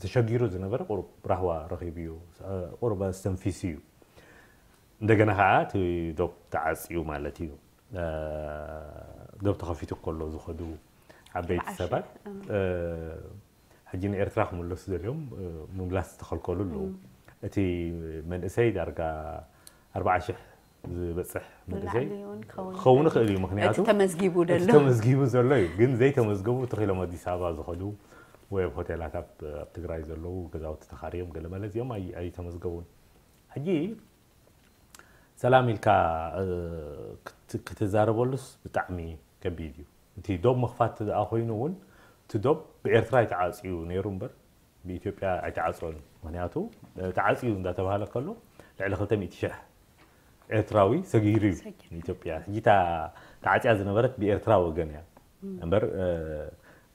ተሸጊሩ ዝነበረ ቁሩብ ራህዋ ረኺቡ እዩ። ቁሩብ ኣስተንፊሱ እዩ። እንደገና ከዓ እቲ ዶብ ተዓፅዩ ማለት እዩ። ዶብ ተኸፊቱ ከሎ ዝኸዱ ዓበይቲ ሰባት ሕጂ ንኤርትራ ክምለሱ ደልዮም ምምላስ ዝተኸልከሉ ኣለዉ። እቲ መንእሰይ ዳርጋ ኣርባዓ ሽሕ ዝበፅሕ መንእሰይ ክኸውን ይኽእል እዩ። ምክንያቱ ተመዝጊቡ ተመዝጊቡ ዘሎ እዩ። ግን ዘይተመዝገቡ ትኽኢሎም ኣዲስ ኣበባ ዝኸዱ ወይ ኣብ ሆቴላት ኣብ ትግራይ ዘለዉ ገዛውቲ ተኻርዮም ገለመለ እዚኦም ኣይተመዝገቡን። ሕጂ ሰላም ኢልካ ክትዛረበሉስ ብጣዕሚ ከቢድ እዩ። እቲ ዶብ ምኽፋት ደኣ ኮይኑ እውን እቲ ዶብ ብኤርትራ ኣይተዓፅዩ ነይሩ እምበር ብኢትዮጵያ ኣይተዓፀን። ምክንያቱ ተዓፅዩ እንዳተባሃለ ከሎ ልዕሊ ክልተ ሚእቲ ሽሕ ኤርትራዊ ሰጊሩ እዩ ንኢትዮጵያ። ሕጂ እታ ተዓፅያ ዝነበረት ብኤርትራ ወገን እያ እምበር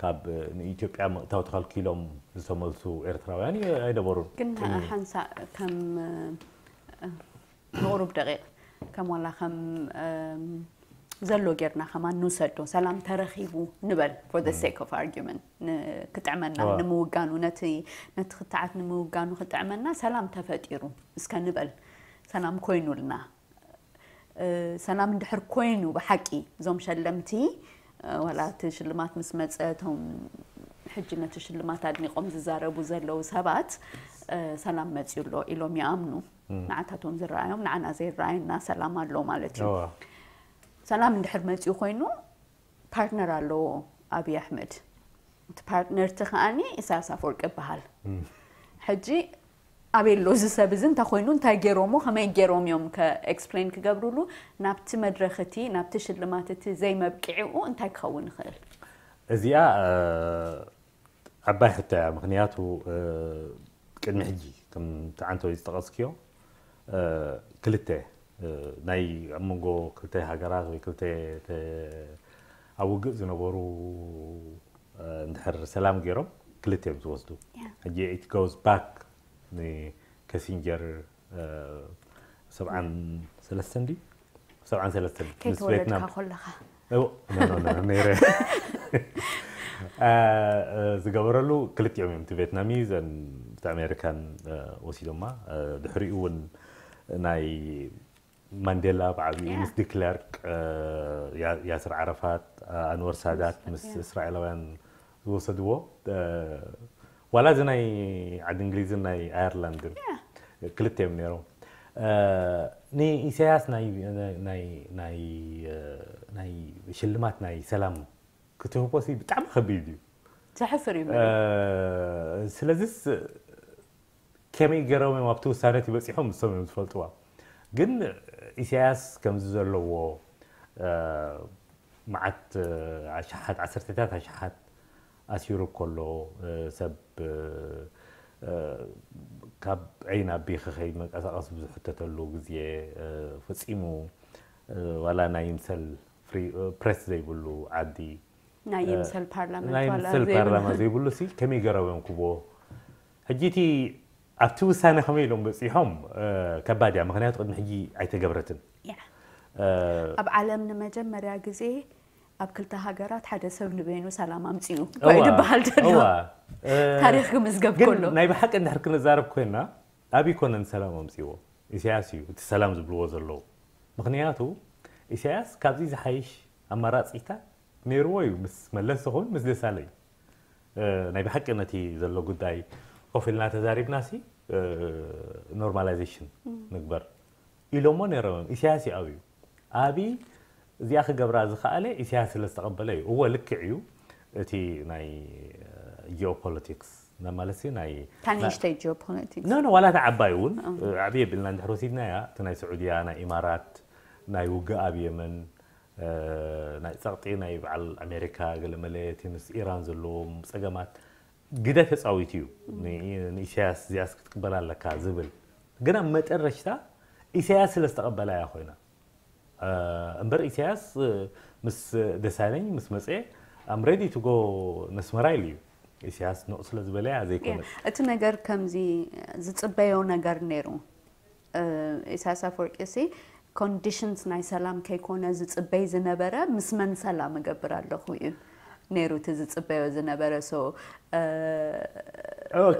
ካብ ንኢትዮጵያ ምእታው ተኸልኪሎም ዝተመልሱ ኤርትራውያን ኣይነበሩን። ግን ሓንሳእ ከም ንቑሩብ ደቂቕ ከም ዋላ ከም ዘሎ ጌርና ከማን ንውሰዶ። ሰላም ተረኺቡ ንበል for the sake of argument፣ ክጥዕመና ንምውጋኑ፣ ነቲ ነቲ ክትዓት ንምውጋኑ ክጥዕመና ሰላም ተፈጢሩ እስከ ንበል። ሰላም ኮይኑልና። ሰላም እንድሕር ኮይኑ ብሓቂ እዞም ሸለምቲ ዋላ እቲ ሽልማት ምስ መፀ እቶም ሕጂ ነቲ ሽልማት ኣድኒቖም ዝዛረቡ ዘለዉ ሰባት ሰላም መፅዩ ኣሎ ኢሎም ይኣምኑ። ንዓታቶም ዝረኣዮም ንዓና ዘይረኣየና ሰላም ኣሎ ማለት እዩ። ሰላም እንድሕር መፅዩ ኮይኑ ፓርትነር ኣለዎ ኣብይ ኣሕመድ። እቲ ፓርትነር እቲ ከዓኒ ኢሳያስ ኣፈወርቂ ይበሃል። ሕጂ ኣበይ ኣሎ እዚ ሰብ እዚ? እንታይ ኮይኑ? እንታይ ገይሮሞ? ከመይ ገይሮም እዮም ኤክስፕሌን ክገብሩሉ? ናብቲ መድረኽ እቲ ናብቲ ሽልማት እቲ ዘይመብቅዒኡ እንታይ ክኸውን ይኽእል? እዚኣ ዓባይ ሕቶ እያ። ምክንያቱ ቅድሚ ሕጂ ከምቲ ዓንተወይ ዝጠቐስክዮ ክልተ ናይ ኣብ መንጎ ክልተ ሃገራት ወይ ክልተ ኣብ ውግእ ዝነበሩ እንድሕር ሰላም ገይሮም ክልተ እዮም ዝወስዱ። ሕጂ it goes back ንከሲንጀር ሰብዓን ሰለስተን ድዩ? ሰብዓን ሰለስተን ምስ ቬትናም ከለኻ ነረ ዝገበረሉ ክልቲኦም እዮም። እቲ ቬትናሚዝ እቲ ኣሜሪካን ወሲዶማ። ድሕሪኡ እውን ናይ ማንዴላ ብዓብኡ ምስ ዲክለርክ፣ ያስር ዓረፋት፣ ኣንወር ሳዳት ምስ እስራኤላውያን ዝወሰድዎ ዋላ እዚ ናይ ዓዲ እንግሊዝን ናይ ኣየርላንድን ክልተ እዮም ነይሮም። ንኢሳያስ ናይ ሽልማት ናይ ሰላም ክትህቦ ሲ ብጣዕሚ ከቢድ እዩ። ዘሕፍር እዩ። ስለዚስ ከመይ ገይሮም እዮም ኣብቲ ውሳነ እቲ በፂሖም ንሶም እዮም ዝፈልጥዋ። ግን ኢሳያስ ከምዚ ዘለዎ መዓት ኣሽሓት ዓሰርተታት ኣሽሓት ኣሲሩ ከሎ ሰብ ካብ ዒ ናብ ቢ ክኸይድ መንቀሳቐሲ ብዝሕተተሉ ግዜ ፈፂሙ ዋላ ናይ ይምሰል ፕሬስ ዘይብሉ ዓዲ ናይ ይምሰል ፓርላመንት ናይ ዋላ ይምሰል ዘይብሉ። ፓርላማ ዘይብሉ ሲ ከመይ ገይሮም እዮም ክብዎ? ሕጂ እቲ ኣብቲ ውሳነ ከመይ ኢሎም በፂሖም ከባድ እያ። ምክንያቱ ቅድሚ ሕጂ ኣይተገብረትን። ኣብ ዓለም ንመጀመርያ ግዜ ኣብ ክልተ ሃገራት ሓደ ሰብ ንበይኑ ሰላም ኣምጺኡ እኳ እዩ ዝበሃል ዘሎ። ታሪኽ ክምዝገብ ከሎ ናይ ብሓቂ እንድሕር ክንዛረብ ኮይና፣ ኣብ ኣይኮነን ሰላም ኣምጺዎ፣ ኢሳያስ እዩ እቲ ሰላም ዝብልዎ ዘለዉ። ምክንያቱ ኢሳያስ ካብዚ ዝሓይሽ ኣማራፂታት ነይርዎ እዩ፣ ምስ መለስ ዝኹን ምስ ደሳለኝ። ናይ ብሓቂ ነቲ ዘሎ ጉዳይ ኮፍ ኢልና ተዛሪብና ሲ ኖርማላይዜሽን ንግበር ኢሎሞ ነይሮም እዮም። ኢሳያስ እዩ ኣብዩ። ኣብይ እዚኣ ክገብራ ዝኸኣለ ኢሳያስ ስለ ዝተቐበለ እዩ። እወ ልክዕ እዩ። እቲ ናይ ጂኦፖለቲክስ ማለት ናይ ታንሽተይ ጂኦፖለቲክስ ኖ ኖ ዋላ እታ ዓባይ እውን ዓብየ ብልና እንድሕር ወሲድናያ እቲ ናይ ስዑድያ ናይ ኢማራት ናይ ውግእ ኣብ የመን ናይ ጸቕጢ ናይ በዓል ኣሜሪካ ገለመለ እቲ ምስ ኢራን ዘለዎም ጸገማት ግደ ተጻዊቱ እዩ ንኢሳያስ እዚኣስ ክትቅበላ ኣለካ ዝብል ግና መጠረሽታ ኢሳያስ ስለ ዝተቐበላ እያ ኮይና እምበር ኢሳያስ ምስ ደሳለኝ ምስ መፀ I'm ready to go ነስመራ ኢሉ እዩ ኢሳያስ ንቕ ስለ ዝበለ እያ ዘይኮነ እቲ ነገር ከምዚ ዝፅበዮ ነገር ነይሩ ኢሳያስ ኣፈወርቂ ሲ ኮንዲሽንስ ናይ ሰላም ከይኮነ ዝፅበይ ዝነበረ ምስ መን ሰላም እገብር ኣለኹ እዩ ነይሩ እቲ ዝፅበዮ ዝነበረ so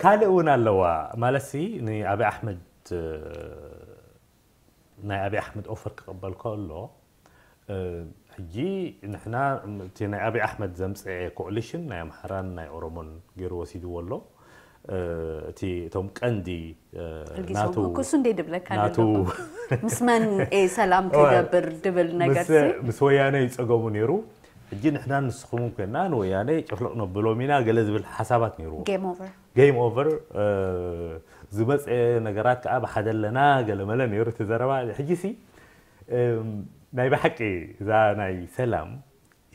ካልእ እውን ኣለዋ ማለት ሲ ንኣብይ ኣሕመድ ናይ ኣብይ ኣሕመድ ኦፈር ክቕበል ከሎ ሕጂ ንሕና እቲ ናይ ኣብይ ኣሕመድ ዘምፅአ ኮኦሊሽን ናይ ኣምሓራን ናይ ኦሮሞን ገይሩ ወሲድዎ ኣሎ እቲ እቶም ቀንዲ ናቱ ክሱ እንደ ድብለካ ናቱ ምስ መን ሰላም ክገብር ድብል ነገር ምስ ወያነ ይፀገሙ ነይሩ ሕጂ ንሕና ንስኹም ኮይና ንወያነ ጭፍልቕ ነብሎም ኢና ገለ ዝብል ሓሳባት ነይርዎ game over game over ዝመፀ ነገራት ከዓ ብሓደ ኣለና ገለመለ ነይሩ እቲ ዘረባ ሕጂ ሲ ናይ ብሓቂ እዛ ናይ ሰላም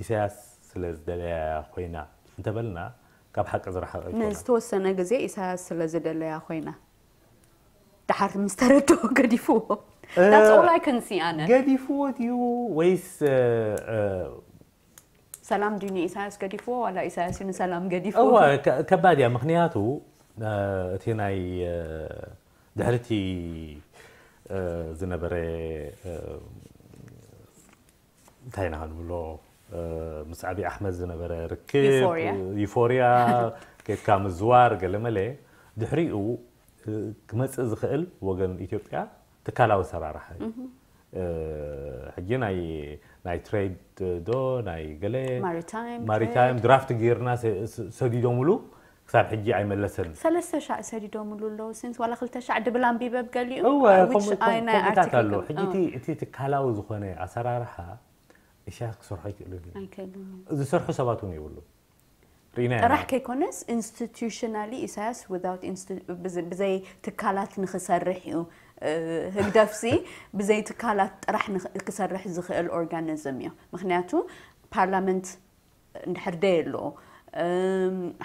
ኢሳያስ ስለ ዝደለያ ኮይና እንተበልና ካብ ሓቂ ዝረሓቀ ይኮና ንዝተወሰነ ግዜ ኢሳያስ ስለ ዝደለያ ኮይና ደሓር ምስ ተረድኦ ገዲፍዎ That's all I can see ኣነ ገዲፍዎ ድዩ ወይስ ሰላም ድዩ ንኢሳያስ ገዲፍዎ ዋላ ኢሳያስ እዩ ንሰላም ገዲፍዎ እዋ ከ- ከባድ እያ ምክንያቱ እ፣ እቲ ናይ እ፣ ድሕርቲ እ፣ ዝነበረ እ፣ እንታይ ኢና ክንብሎ እ፣ ምስ ኣብይ ኣሕመድ ዝነበረ ርክብ Euphoria. ዩፎርያ ኬድካ ምዝዋር ገለመለ ድሕሪኡ እ፣ ክመፅእ ዝኽእል ወገን ኢትዮጵያ ትካላዊ ኣሰራርሓ እዩ ሕጂ ናይ ናይ ትሬድ ዶ ናይ ገለ ማሪታይም ማሪታይም ድራፍት ጌርና ሰዲዶምሉ ክሳብ ሕጂ ኣይመለሰን ሰለስተ ሻዕ ሰዲዶምሉ ኣለዉ ሲንስ ዋላ ክልተ ሻዕ ድብል ኣንቢበ ብገሊኡ እወ ከምኡ ከምኡታት ኣሎ ሕጂ እቲ ትካላዊ ዝኾነ ኣሰራርሓ እሻ ክሰርሖ ኣይክእልን ዝሰርሑ ሰባት እውን የብሉ ሪና ጥራሕ ከይኮነስ institutionally ኢሳያስ without ብዘይ ትካላት ንክሰርሕ እዩ ህግደፍሲ ብዘይ ትካላት ጥራሕ ክሰርሕ ዝኽእል organism እዩ ምክንያቱ ፓርላመንት እንድሕር ደየሎ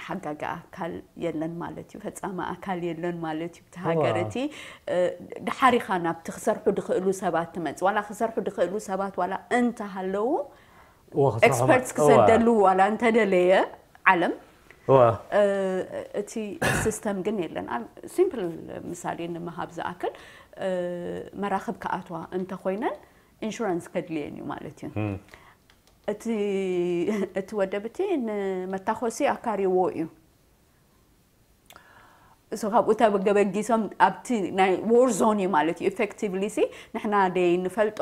ሓጋጊ ኣካል የለን ማለት እዩ ፈፃሚ ኣካል የለን ማለት እዩ እቲ ሃገር እቲ ድሓር ኢኻ ናብቲ ክሰርሑ ድኽእሉ ሰባት ትመፅእ ዋላ ክሰርሑ ድኽእሉ ሰባት ዋላ እንተሃለዉ ኤክስፐርትስ ክሰደሉ ዋላ እንተደለየ ዓለም እቲ ሲስተም ግን የለን ሲምፕል ምሳሌ ንምሃብ ዝኣክል መራኽብ ክኣትዋ እንተኮይነን ኢንሹራንስ ከድልየን እዩ ማለት እዩ እቲ ወደብ እቲ ንመታኮሲ ኣካሪዎ እዩ so ካብኡ ተበገበጊሶም ኣብቲ ናይ ዎር ዞን እዩ ማለት እዩ effectively ሲ ንሕና ደይ ንፈልጦ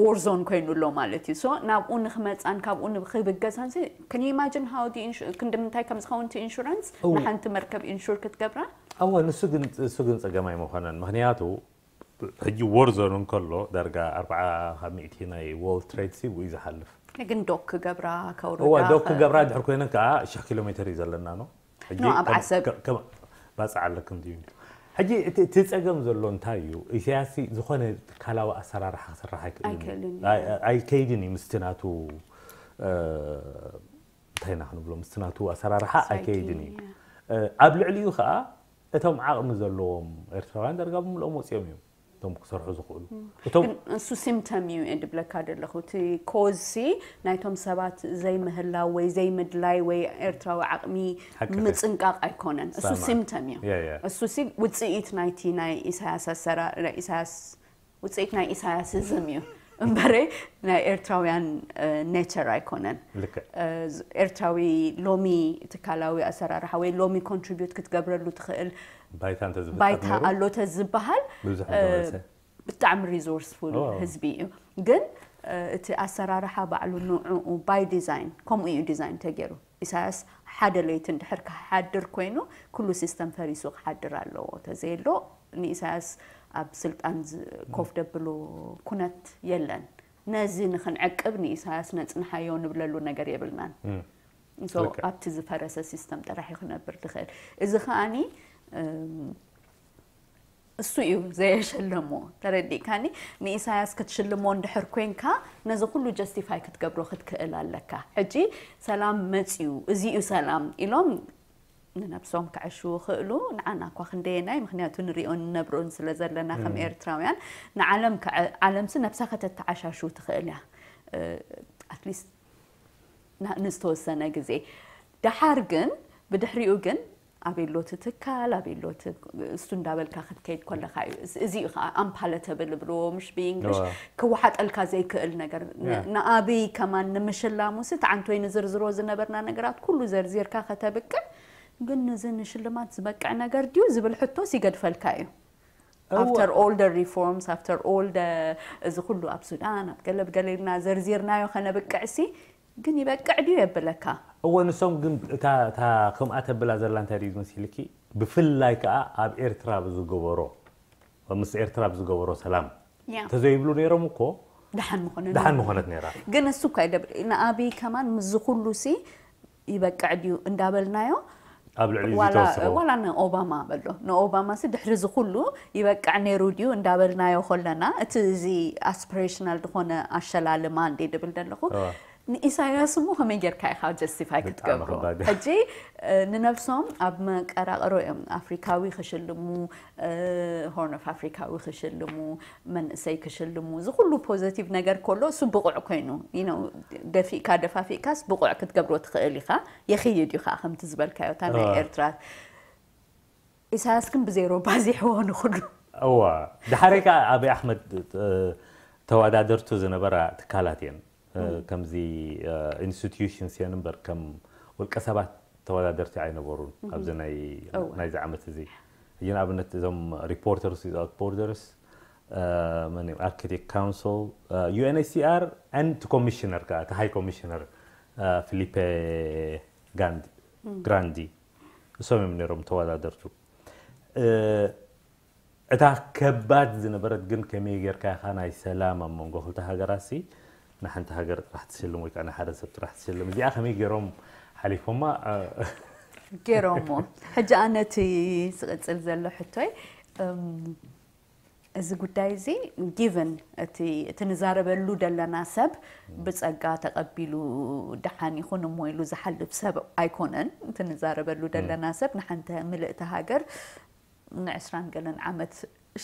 ዎር ዞን ኮይኑ ኣሎ ማለት እዩ so ናብኡ ንክመፃን ካብኡ ንክብገሳን ሲ can you imagine how ክንዲ ምንታይ ከም ዝኸውን እቲ ኢንሹራንስ ንሓንቲ መርከብ ኢንሹር ክትገብራ ኣወ ንሱ ግን እሱ ግን ፀገም ኣይመኾነን ምክንያቱ ሕጂ ዎር ዞን እንከሎ ዳርጋ ኣርባዓ ካብ ሚእቲ ናይ ዎርልድ ትሬድ ሲ ብኡ እዩ ዝሓልፍ ግን ዶክ ክገብራ ከውርዳ እዋ ዶክ ክገብራ ድሕር ኮይነን ከዓ ሽሕ ኪሎ ሜትር እዩ ዘለና ነው ሕጂ ኖ፣ ኣብ ከም- ዓሰብ። ከም- ከም- ባፅዕ ኣለክም ድዩ ሕጂ እቲ እቲ ፀገም ዘሎ እንታይ እዩ ኢሳያስ ዝኾነ ትካላዊ ኣሰራርሓ ክስራሕ ኣይክእልን እዩ። ኣይክእልን እዩ። ኣይ- ኣይከይድን እዩ ምስቲ ናቱ እ፣ እንታይ ኢና ክንብሎ ምስቲ ናቱ ኣሰራርሓ ኣይከይድን እዩ እ፣ ኣብ ልዕሊኡ ከዓ እቶም ዓቕሚ ዘለዎም ኤርትራውያን ዳርጋ ብምልኦም ወፂኦም እዮም እቶም ክሰርሑ ዝኽእሉ እቶም ግን እሱ ሲምተም እዩ እየ ድብለካ ዘለኹ እቲ ኮዝ ሲ ናይቶም ሰባት ዘይምህላው ወይ ዘይምድላይ ወይ ኤርትራዊ ዓቕሚ ሓቅኺ። ምፅንቃቕ ኣይኮነን እሱ ሳማ። ሲምተም እዩ ያ፣ ያ። እሱ ሲ ውፅኢት ናይቲ ናይ ኢሳያስ ኣሰራ ናይ ኢሳያስ ውፅኢት ናይ ኢሳያስዝም እዩ እምበረ ናይ ኤርትራውያን ኔቸር ኣይኮነን። ልክዕ። ኤርትራዊ ሎሚ ትካላዊ ኣሰራርሓ ወይ ሎሚ ኮንትሪቢዩት ክትገብረሉ ትኽእል ባይታ እንተዝፍጠር ባይታ ነይሩ ኣሎ ተዝበሃል ብዙሕ ምተወረሰ። ብጣዕሚ ሪዞርስፉል ዋው። ህዝቢ እዩ። ግን እቲ ኣሰራርሓ ባዕሉ ንዕኡ ባይ ዲዛይን ከምኡ እዩ ዲዛይን ተገይሩ። ኢሳያስ ሓደ ለይቲ እንድሕር ክሓድር ኮይኑ ኩሉ ሲስተም ፈሪሱ ክሓድር ኣለዎ። ተዘየሎ ንኢሳያስ ኣብ ስልጣን ዝ- ኮፍ ደብሉ ኩነት የለን። ነዚ ንክንዕቅብ ንኢሳያስ ነጽንሓዮ ንብለሉ ነገር የብልናን። So ልክዕ። ኣብቲ ዝፈረሰ ሲስተም ጥራሕ እዩ ክነብር ዝኽእል። እዚ ከኣኒ እም፣ እሱ እዩ ዘየሸለሞ። ተረዲእካኒ? ንኢሳያስ ክትሽልሞ እንድሕር ኮንካ ነዚ ኩሉ ጀስቲፋይ ክትገብሮ ክትክእል ኣለካ። ሕጂ ሰላም መጽዩ፣ እዚ እዩ ሰላም ኢሎም ንነብሶም ክዕሽዉ ይኽእሉ። ንዓና እኳ ክንደየናይ፣ ምክንያቱ ንሪኦን ንነብሮን ስለ ዘለና ከም ኤርትራውያን ንዓለም ክዐ- ዓለምሲ ነብሳ ከተተዓሻሹ ትኽእል እያ። ኣትሊስት ንዝተወሰነ ግዜ። ደሓር ግን ብድሕሪኡ ግን ኣበይ ኣሎ እቲ ትካል፣ ኣበይ ኣሎ እቲ እሱ እንዳበልካ ክትከይድ ከለካ እዩ። እዚ- እዚ እዩ ከዓ ኣምፓለተብል ብልዎ ምሽ ብእንግሊሽ እዋ። ክወሓጠልካ ዘይክእል ነገር። ን- ያ። ንኣብይ ከማን ንምሽላሙሲ ተዓንቶይ ንዝርዝሮ ዝነበርና ነገራት ኩሉ ዘርዚርካ ከተብቅዕ ግን ንዚ ንሽልማት ዝበቅዕ ነገር ድዩ ዝብል ሕቶስ ይገድፈልካ እዩ። እዋ። After all the reforms, after all the እዚ ኩሉ ኣብ ሱዳን ኣብ ገለ ብገለ ኢልና ዘርዚርናዮ ከነብቅዕሲ ግን ይበቅዕ ድዩ የብለካ? እወ ንሶም ግን እታ እታ ከምኣ ተብላ ዘላ እንታይ ድዩ ዝመሲልኪ ብፍላይ ከዓ ኣብ ኤርትራ ብዝገበሮ ምስ ኤርትራ ብዝገበሮ ሰላም ያ። ተዘይብሉ ነይሮም እኮ ደሓን ምኾነ ደሓን ምኾነት ነይራ። ግን እሱ እኳ ይደብር ንኣብይ ከማን ምስዚ ኩሉ ሲ ይበቅዕ ድዩ እንዳበልናዮ ኣብ ልዕሊ እዚ ዋላ ተወስኸ ዋላ ንኦባማ በሎ ንኦባማ ሲ ድሕሪ እዚ ኩሉ ይበቅዕ ነይሩ ድዩ እንዳበልናዮ ከለና እቲ እዚ ኣስፒሬሽናል ዝኾነ ኣሸላልማ እንዴ ድብል ዘለኹ እዋ። ንኢሳያስ እሞ ከመይ ጌርካ ኢኻ ጀስቲፋይ ብጣዕሚ ክትገብሮ ከባድ። ሕጂ እ፣ ንነብሶም ኣብ መቀራቕሮ እዮም ኣፍሪካዊ ክሽልሙ ሆርን ኦፍ ኣፍሪካዊ ክሽልሙ መንእሰይ ክሽልሙ እዚ ኩሉ ፖዘቲቭ ነገር ከሎ እሱ ብቑዕ ኮይኑ you know፣ ደፊእካ ደፋፊእካስ ብቑዕ ክትገብሮ ትኽእል ኢኻ። የኽይድ እዩ ከዓ ከምቲ ዝበልካዮ እታ ናይ እዋ። ኤርትራ ኢሳያስ ግን ብዜሮ ባዚሕዎ ንኩሉ እዋ ድሓረይ ከዓ ኣብይ ኣሕመድ እ፣ ተወዳደርቱ ዝነበራ ትካላት እየን እ፣ ከምዚ ኢንስቲትዩሽንስ እየን እምበር ከም ውልቀ ሰባት ተወዳደርቲ ኣይነበሩን ኣብዚ ናይ እዋ። ናይዚ ዓመት እዚ ሕጂ ንኣብነት እዞም ሪፖርተርስ ዊዛውት ቦርደርስ መን እዩ ኣርክቲክ ካውንስል ዩኤንኤችሲኣር ን ኮሚሽነር ከዓ እቲ ሃይ ኮሚሽነር ፊሊፔ ጋንዲ ግራንዲ እሶም እዮም ነይሮም ተወዳደርቱ እ፣ እታ ከባድ ዝነበረት ግን ከመይ ጌርካ ኢኻ ናይ ሰላም ኣብ መንጎ ክልተ ሃገራት ሲ ንሓንቲ ሃገር ጥራሕ ትስልም ወይ ከዓ ንሓደ ሰብ ጥራሕ ትስልም እዚኣ ከመይ ገይሮም ሓሊፎማ እ፣ ገይሮሞ ሕጂ ኣነ እቲ ዝቕፅል ዘሎ ሕቶይ እም፣ እዚ ጉዳይ እዚ ጊቨን እቲ እቲ ንዛረበሉ ዘለና ሰብ ብፀጋ ተቐቢሉ ደሓን ይኹን እሞ ኢሉ ዝሓልፍ ሰብ ኣይኮነን። እቲ ንዛረበሉ ዘለና ሰብ ንሓንቲ ምልእቲ ሃገር ንዕስራን ገለን ዓመት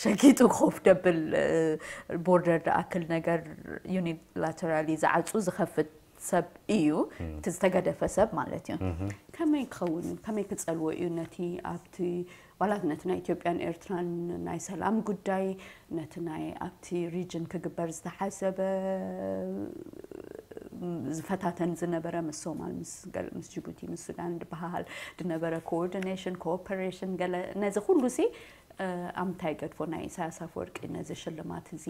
ሸጊጡ ኮፍ ደብል ቦርደር ደኣክል ነገር ዩኒላተራሊ ዝዓፁ ዝኸፍት ሰብ እዩ። እቲ ዝተገደፈ ሰብ ማለት እዩ። ከመይ ክኸውን ከመይ ክፀልዎ እዩ ነቲ ኣብቲ ዋላት ነቲ ናይ ኢትዮጵያን ኤርትራን ናይ ሰላም ጉዳይ ነቲ ናይ ኣብቲ ሪጅን ክግበር ዝተሓሰበ ዝፈታተን ዝነበረ ምስ ሶማል ምስ ገለ ምስ ጅቡቲ ምስ ሱዳን ዝበሃል ዝነበረ ኮኦርዲኔሽን ኮኦፐሬሽን ገለ ነዚ ኩሉ ሲ ኣብ ምንታይ ገድፎ ናይ ኢሳያስ ኣፈወርቂ ነዚ ሽልማት እዚ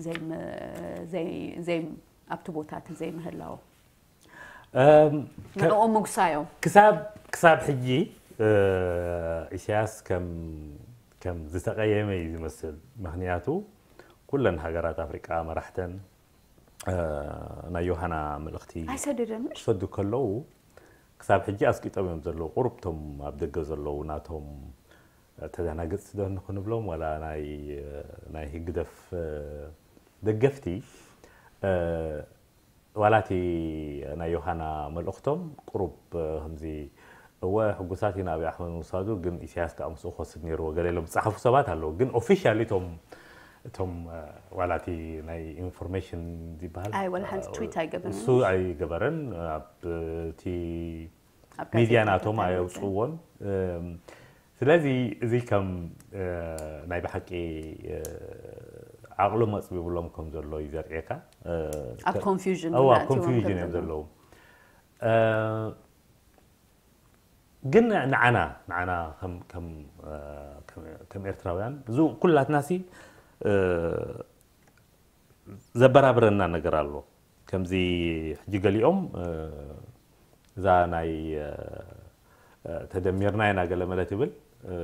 ዘይም- ዘይ- ዘይ ኣብቲ ቦታ እቲ ዘይምህላው እም፣ ንዕኡ ምጉሳዮም ክሳብ ክሳብ ሕጂ እ፣ ኢሳያስ ከም ከም ዝተቐየመ እዩ ዝመስል ምክንያቱ ኩለን ሃገራት ኣፍሪቃ መራሕተን እ፣ ናይ ዮሃና መልእኽቲ ኣይሰደደን ምሽ ክሰዱ ከለዉ ክሳብ ሕጂ ኣስቂጦም እዮም ዘለዉ ቁሩብ ቶም ኣብ ደገ ዘለዉ ናቶም ተዘናግፅቲ ዶ ንክንብሎም ዋላ ናይ ናይ ህግደፍ እ፣ ደገፍቲ እ፣ ዋላ እቲ ናይ ዮሃና መልእኽቶም ቁሩብ እ፣ ከምዚ እወ ሕጉሳት ኢና ኣብይ ኣሕመድ ምውሳዱ ግን ኢሳያስ ከዓ ምስኡ ክወስድ ነይርዎ ገለ ኢሎም ዝፀሓፉ ሰባት ኣለዉ ግን ኦፊሻሊ እቶም እቶም እ፣ ዋላ እቲ ናይ ኢንፎርሜሽን ዝበሃል ኣይ፣ ዋላ ሓንቲ እ፣ ትዊት ኣይገበረን። እሱ ኣይገበረን ኣብ እቲ ኣብ ሚድያ ጋዜጣ ናቶም ተታሊፉ። ኣየውፅዎን እም፣ ስለዚ እዚ ከም እ፣ ናይ ብሓቂ እ፣ ዓቕሎም ኣፅቢብሎም ከም ዘሎ እዩ ዘርእየካ። እ፣ ኣብ ከ- ኮንፊውዥን እዋ ናእትዎም ኮንፊውዥን ከም እዮም ዘለዉ። ዘለዉ። እ፣ ግን ንዓና ንዓና ከም ከም እ፣ ከም- ከም ኤርትራውያን እዚ ኩላትናሲ እ፣ ዘበራብረና ነገር ኣሎ። ከምዚ ሕጂ ገሊኦም እ፣ እዛ ናይ እ፣ እ፣ ተደሚርና ኢና ገለ መለ ትብል እ፣